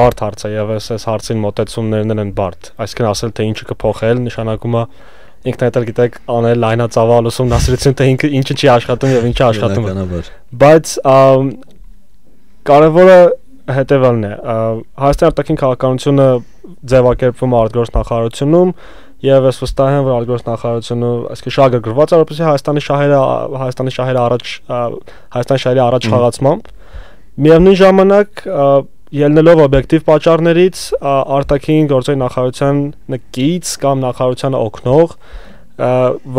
[SPEAKER 2] բարդ հարց է եւ այս հարցին մոտեցումներն են բարդ, այսինքն ասել թե ինչը կփոխել, նշանակում է ինքն էլ գիտեք անել լայնածավալ ուսումնասիրություն, թե ինչը չի աշխատում եւ ինչը աշխատում է։ Բայց կարևորը հետևալն է, Հայաստանի արտաքին քաղաքականությունը ձևակերպվում է արտգործնախարարությունում եւ ես վստահ եմ, որ արտգործնախարարությունը այսինքն շահագրգռված է, որպեսզի Հայաստանի շահերի առաջ խաղացմամբ միևնույն ժամանակ ելնելով օբյեկտիվ պատճառներից արտաքին գործերի նախարարության նկից կամ նախարարությանը օգնող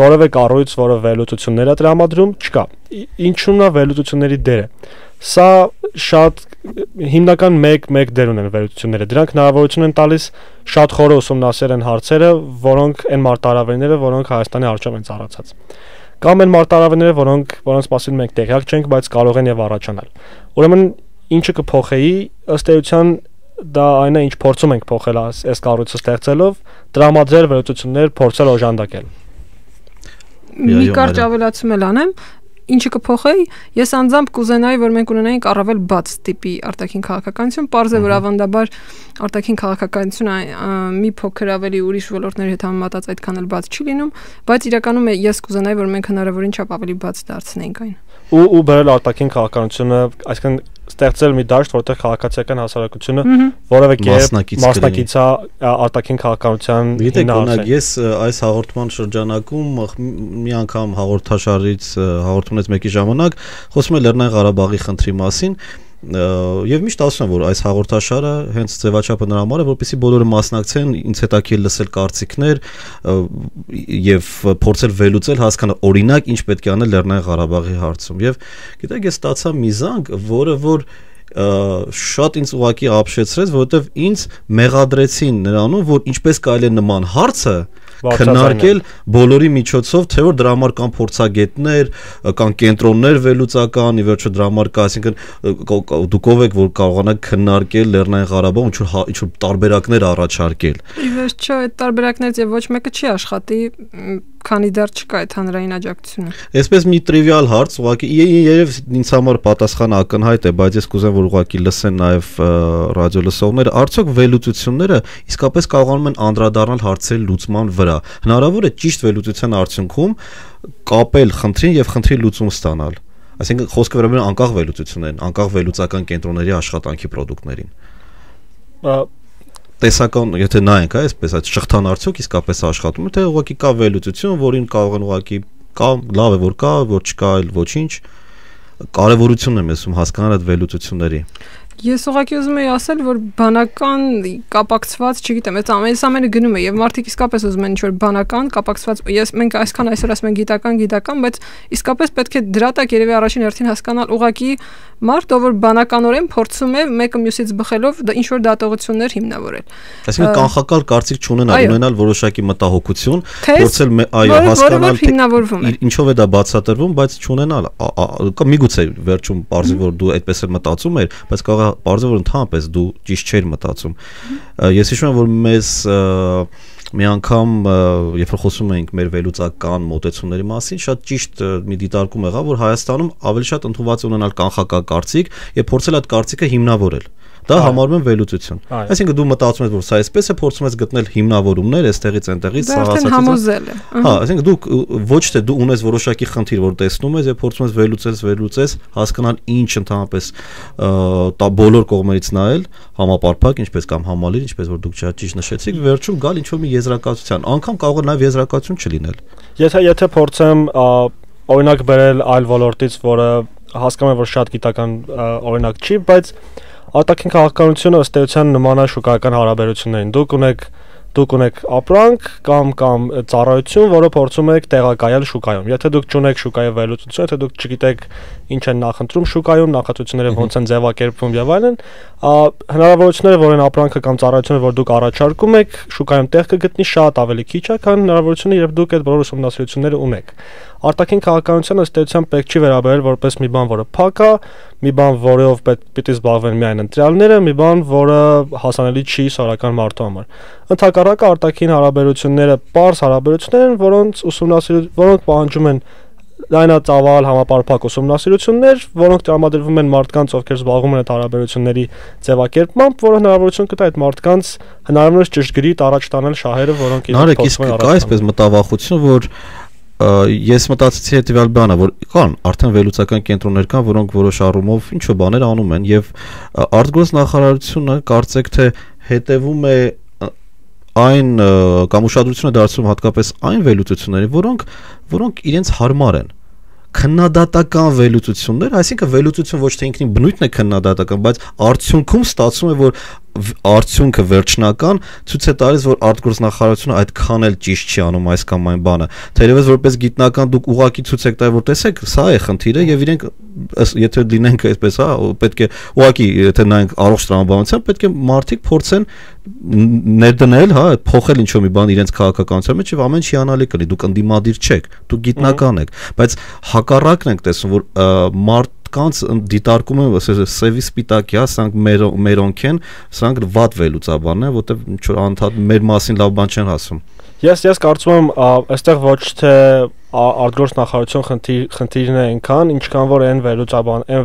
[SPEAKER 2] որևէ կառույց, որը վերլուծություններ է տրամադրում, չկա։ Ինչու՞մն է վերլուծությունների դերը։ Սա շատ հիմնական մեկ դեր ունեն վերլուծությունները։ Դրանք հնարավորություն են տալիս շատ խորը ուսումնասիրել են հարցերը, որոնք այն մարտահրավերները, որոնք Հայաստանի առջև են ծառացած։ Կամ այն մարտահրավերները, որոնց մասին մենք տեղյակ չենք, բայց կարող են եւ առաջանալ։ Ուրեմն ինչը կփոխեի, ըստ էության դա այն է, ինչ փորձում ենք փոխել այս կառույցը ստեղծելով, տրամադրել վերլուծություններ, փորձել օժանդակել։
[SPEAKER 3] Մի կարճ ավելացում էլ անեմ, ինչը կփոխեի, ես անձամբ կուզենայի, որ մենք ունենայինք առավել բաց տիպի արտաքին քաղաքականություն, պարզ է, որ ավանդաբար արտաքին քաղաքականությունը մի փոքր ավելի ուրիշ ոլորտների հետ համեմատած այդքան էլ բաց չի լինում, բայց իրականում ես կուզենայի, որ մենք հնարավորին չափ ավելի բաց դարձնենք այն։
[SPEAKER 2] Ու բերել արտաքին քաղաքականությունը, այսինքն ստեղծել մի դաշտ, որտեղ քաղաքացիական հասարակությունը որևէ կերպ մասնակից է արտաքին քաղաքականության
[SPEAKER 1] հիմնարկ։ Ես այս հաղորդման շրջանակում մի անգամ հաղորդումից մեկի ժամանակ խոսում եմ Լեռնային Ղարաբաղի խնդրի մասին եւ միշտ ասում եմ, որ այս հաղորդաշարը հենց ձևաչափը նրա համար է, որպեսզի բոլորը մասնակցեն, ինձ հետաքրքիր լսել կարծիքներ եւ փորձել վերլուծել, հասկանալ օրինակ ինչ պետք է անել Լեռնային Ղարաբաղի հարցում։ Եվ գիտեք, ես ստացա մի զանգ, որ շատ ինձ ուղղակի ապշեցրեց, որովհետեւ ինձ մեղադրեցին նրանում, որ ինչպես կարելի է նման հարցը քննարկել բոլորի միջոցով, թե որ դրա համար կան փորձագետներ, կան կենտրոններ վերլուծական, ի վերջո դրա համար կա, այսինքն դուք ով եք, որ կարողանաք քննարկել Լեռնային Ղարաբաղը, ինչ որ տարբերակներ առաջարկել։
[SPEAKER 3] Ի վերջո այդ տարբերակներից եւ ոչ մեկը չի աշխատի, քանի դեռ չկա այդ հանրային աջակցությունը։
[SPEAKER 1] Այսպես մի տրիվիալ հարց, ուղղակի երևի ինձ համար պատասխանը ակնհայտ է, բայց ես կուզեմ, որ ուղղակի լսեն նաեւ ռադիո լսողները, արդյոք վերլուծությունները իսկապես կարողանում են անդրադառնալ հարցերի լուծման վրա։ Հնարավոր է ճիշտ վերլուծության արդյունքում կապել խնդրին եւ խնդրի լուծում ստանալ։ Այսինքն խոսքը վերաբերում է անկախ վերլուծություններին, անկախ վերլուծական կենտրոնների աշխատանքի պրոդուկտներին։ Տեսական, եթե նայենք, այսպես այդ շղթան արդյոք իսկապես աշխատում է, թե ուղղակի կա վերլուծություն, որին կարող են ուղղակի կա, լավ է որ կա, որ չկա, այլ ոչինչ։ Կարևորությունն եմ ասում հասկանալ այդ վերլուծությունների։
[SPEAKER 3] Ես ուղղակի ուզում եի ասել, որ բանական կապակցված, չգիտեմ, այս ամենը գնում է եւ մարդիկ իսկապես ուզում են ինչ-որ բանական կապակցված, մենք այսքան այսօր ասում ենք գիտական, բայց իսկապես պետք է դրա տակ երևի առաջին հերթին հասկանալ ուղղակի մարդ, ով որ բանականորեն փորձում է մեկը մյուսից բխելով ինչ-որ դատողություններ հիմնավորել։
[SPEAKER 1] Այսինքն կանխակալ կարծիք ունենալ որոշակի մտահոգություն, փորձել հասկանալ ինչով է դա բացատրվում, բայց չունենալ, միգուցե վերջում բարձր որ դու այդպես էլ մտածում ես, բայց կարող Պարզը որ ընդհանրապես դու ճիշտ չէր մտածում։ Ես հիշում եմ, որ մեզ մի անգամ երբ որ խոսում էինք մեր վերլուծական մոտեցումների մասին, շատ ճիշտ մի դիտարկում եղավ, որ Հայաստանում ավելի շատ ընդունված է ունենալ կանխական կարծիք եւ փորձել այդ կարծիքը հիմնավորել։ Դա համարվում է վերլուծություն։ Այսինքն դու մտածում ես, որ սա այսպես է, փորձում ես գտնել հիմնավորումներ, այստեղից այնտեղից
[SPEAKER 3] սա համոզել է։
[SPEAKER 1] Այսինքն դու ոչ թե դու ունես որոշակի խնդիր, որ տեսնում ես եւ փորձում ես վերլուծես, հասկանալ ինչ ընդհանրապես բոլոր կողմերից նայել, համապարփակ, ինչպես կամ համալիր, ինչպես որ դուք ճիշտ նշեցիք, վերջում գալ ինչ որ մի եզրակացության, անգամ կարող է նաեւ եզրակացություն չլինել։
[SPEAKER 2] Եթե փորձեմ օրինակ բերել այլ ոլորտից, որը հասկանում եմ, որ շատ գիտական օրինակ չի, բայց արտաքին քաղաքականությունը ըստ էության նման է շուկայական հարաբերություններին։ Դուք ունեք ապրանք կամ ծառայություն, որը փորձում եք տեղակայել շուկայում։ Եթե դուք չունեք շուկայի վերլուծություն, եթե դուք չգիտեք ինչ են նախընտրում շուկայում, նախաձեռնությունները ոնց են ձևակերպվում եւ այլն, հնարավորությունները, որ այն ապրանքը կամ ծառայությունը, որ դուք առաջարկում եք, շուկայում տեղ կգտնի շատ ավելի քիչ է, քան հնարավորությունը, երբ դուք այդ բոլոր ուսումնասիրությունները ունեք։ Արտաքին քաղաքականությունը ըստ էության պետք չի վերաբերել որպես մի բան, որը փակ է, մի բան, որով պիտի զբաղվեն միայն ընտրյալները, մի բան, որը հասանելի չի սովորական մարդու համար։ Ընդհակառակը արտաքին հարաբերությունները պարզ հարաբերություններ են, որոնք պահանջում են լայնածավալ համապարփակ ուսումնասիրություններ, որոնք տրամադրվում են մարդկանց, ովքեր զբաղվում են այդ հարաբերությունների ձևակերպմամբ, որը հնարավորություն կտա այդ մարդկանց հնարավորինս ճշգրիտ առաջ տանել շահերը, որոնք իրենք փոխում են
[SPEAKER 1] առաջ։ Կա այսպես մտավախություն, որ ես մտածեցի հետևյալ բանը, որ կան արդեն վերլուծական կենտրոններ կան, որոնք որոշ առումով ինչ-որ բաներ անում են եւ արտգործ նախարարությունը կարծեք թե հետևում է այն կամ ուշադրությունը դարձնում հատկապես այն վերլուծություններին, որոնք իրենց հարմար են քննադատական վերլուծություններ, այսինքն վերլուծություն ոչ թե ինքնին բնույթն է քննադատական, բայց արդյունքում ստացվում է, որ արդյունքը վերջնական ցույց է տալիս, որ արտգործնախարարությունը այդքան էլ ճիշտ չի անում այս կամ այն բանը։ Թերևս որպես գիտնական դուք ուղղակի ցույց եք տալիս, որ տեսեք, սա է խնդիրը եւ իրենք եթե լինենք այսպես, հա, պետք է ուղղակի եթե նայենք առողջ տրամաբանության, պետք է մարդիկ փորձեն ներդնել, հա, փոխել ինչ-որ մի բան իրենց քաղաքականության մեջ եւ ամեն չի անալի կլինի, դուք ընդդիմադիր չեք, դուք գիտնական եք, բայց հակառակն ենք տեսնում, որ կանց դիտարկում են սևի սպիտակի, հա, սրանք մերոնք են, սրանք վատ վերլուծաբանն են, որտեղ ինչ որ անդադ մեր մասին լավ բան չեն ասում։
[SPEAKER 2] Ես կարծում եմ, այստեղ ոչ թե արտգործ նախարարություն խնդիրն է այնքան, ինչքան որ այն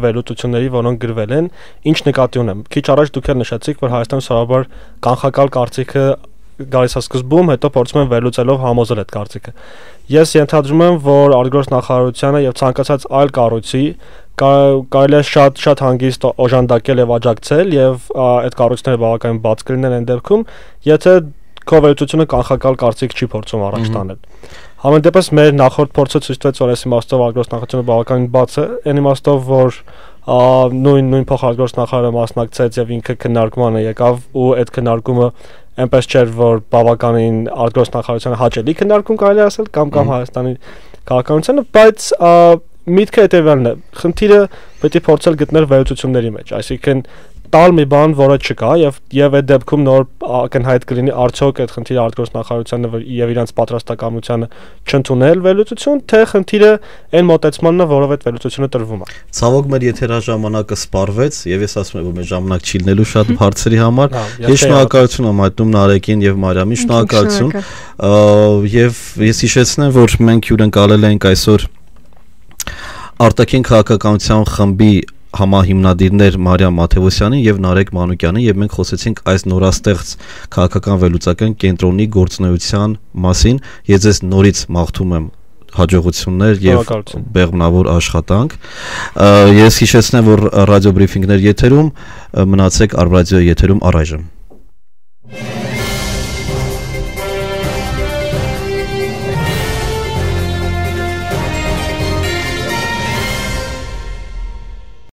[SPEAKER 2] վերլուծությունների, որոնք գրվել են, ինչ նկատի ունեմ։ Քիչ առաջ դուք էլ նշեցիք, որ Հայաստանում սովորաբար կանխակալ կարծիքը գալիս է սկզբում, հետո փորձում են վերլուծելով համոզել այդ կարծիքը։ Ես ենթադրում եմ, որ արտգործ նախարարությունը եւ ցանկացած այլ կառույցի կարելի է շատ հանգիստ օժանդակել եւ աջակցել եւ այդ կառույցները բավականին բաց կլինեն այն դեպքում, եթե քո վերլուծությունը կանխակալ կարծիք չի փորձում առաջ տանել։ Համեն դեպս մեր նախորդ փորձը ցույց տվեց, որ այս իմաստով արտգործ նախարարությունը բավականին բաց է, այն իմաստով, որ նույն փոխարտգործ նախարարը մասնակցեց եւ ինքը քննարկմանը եկավ ու այդ քննարկումը այնպես չէր, որ բավականին արտգործ նախարարությունը հաճելի քննարկում կարելի ասել կամ Հայաստանի քաղաքականությունը, բայց միտքը հետևյալն է, խնդիրը պետք է փորձել գտնել վերլուծությունների մեջ, այսինքն տալ մի բան, որը չկա եւ այդ դեպքում նոր ակնհայտ կլինի արդյոք այդ խնդիրը արտգործ նախարարությանը եւ իրանց պատրաստակամությանը չընդունել վերլուծություն, թե խնդիրը այն մոտեցմանն է, որով այդ վերլուծությունը տրվում է։
[SPEAKER 1] Ցավոք մեր եթերաժամանակը սպառվեց եւ ես ասում եմ, որ մեր ժամանակ չի լինելու շատ հարցերի համար։ Ես շնորհակալություն եմ հայտնում Նարեկին եւ Մարիամին, շնորհակալություն։ Եվ ես հիշեցնեմ, որ մենք հյուրընկալել ենք այսօր արտաքին քաղաքականության խմբի համահիմնադիրներ Մարիամ Մաթևոսյանին եւ Նարեկ Մանուկյանին եւ մենք խոսեցինք այս նորաստեղծ քաղաքական վերլուծական կենտրոնի գործունեության մասին։ Ես ձեզ նորից մաղթում եմ հաջողություններ եւ բեղմնավոր աշխատանք։ Ես հիշեցնեմ, որ ռադիո բրիֆինգներ եթերում մնացեք Արբրադիոյի եթերում առայժմ։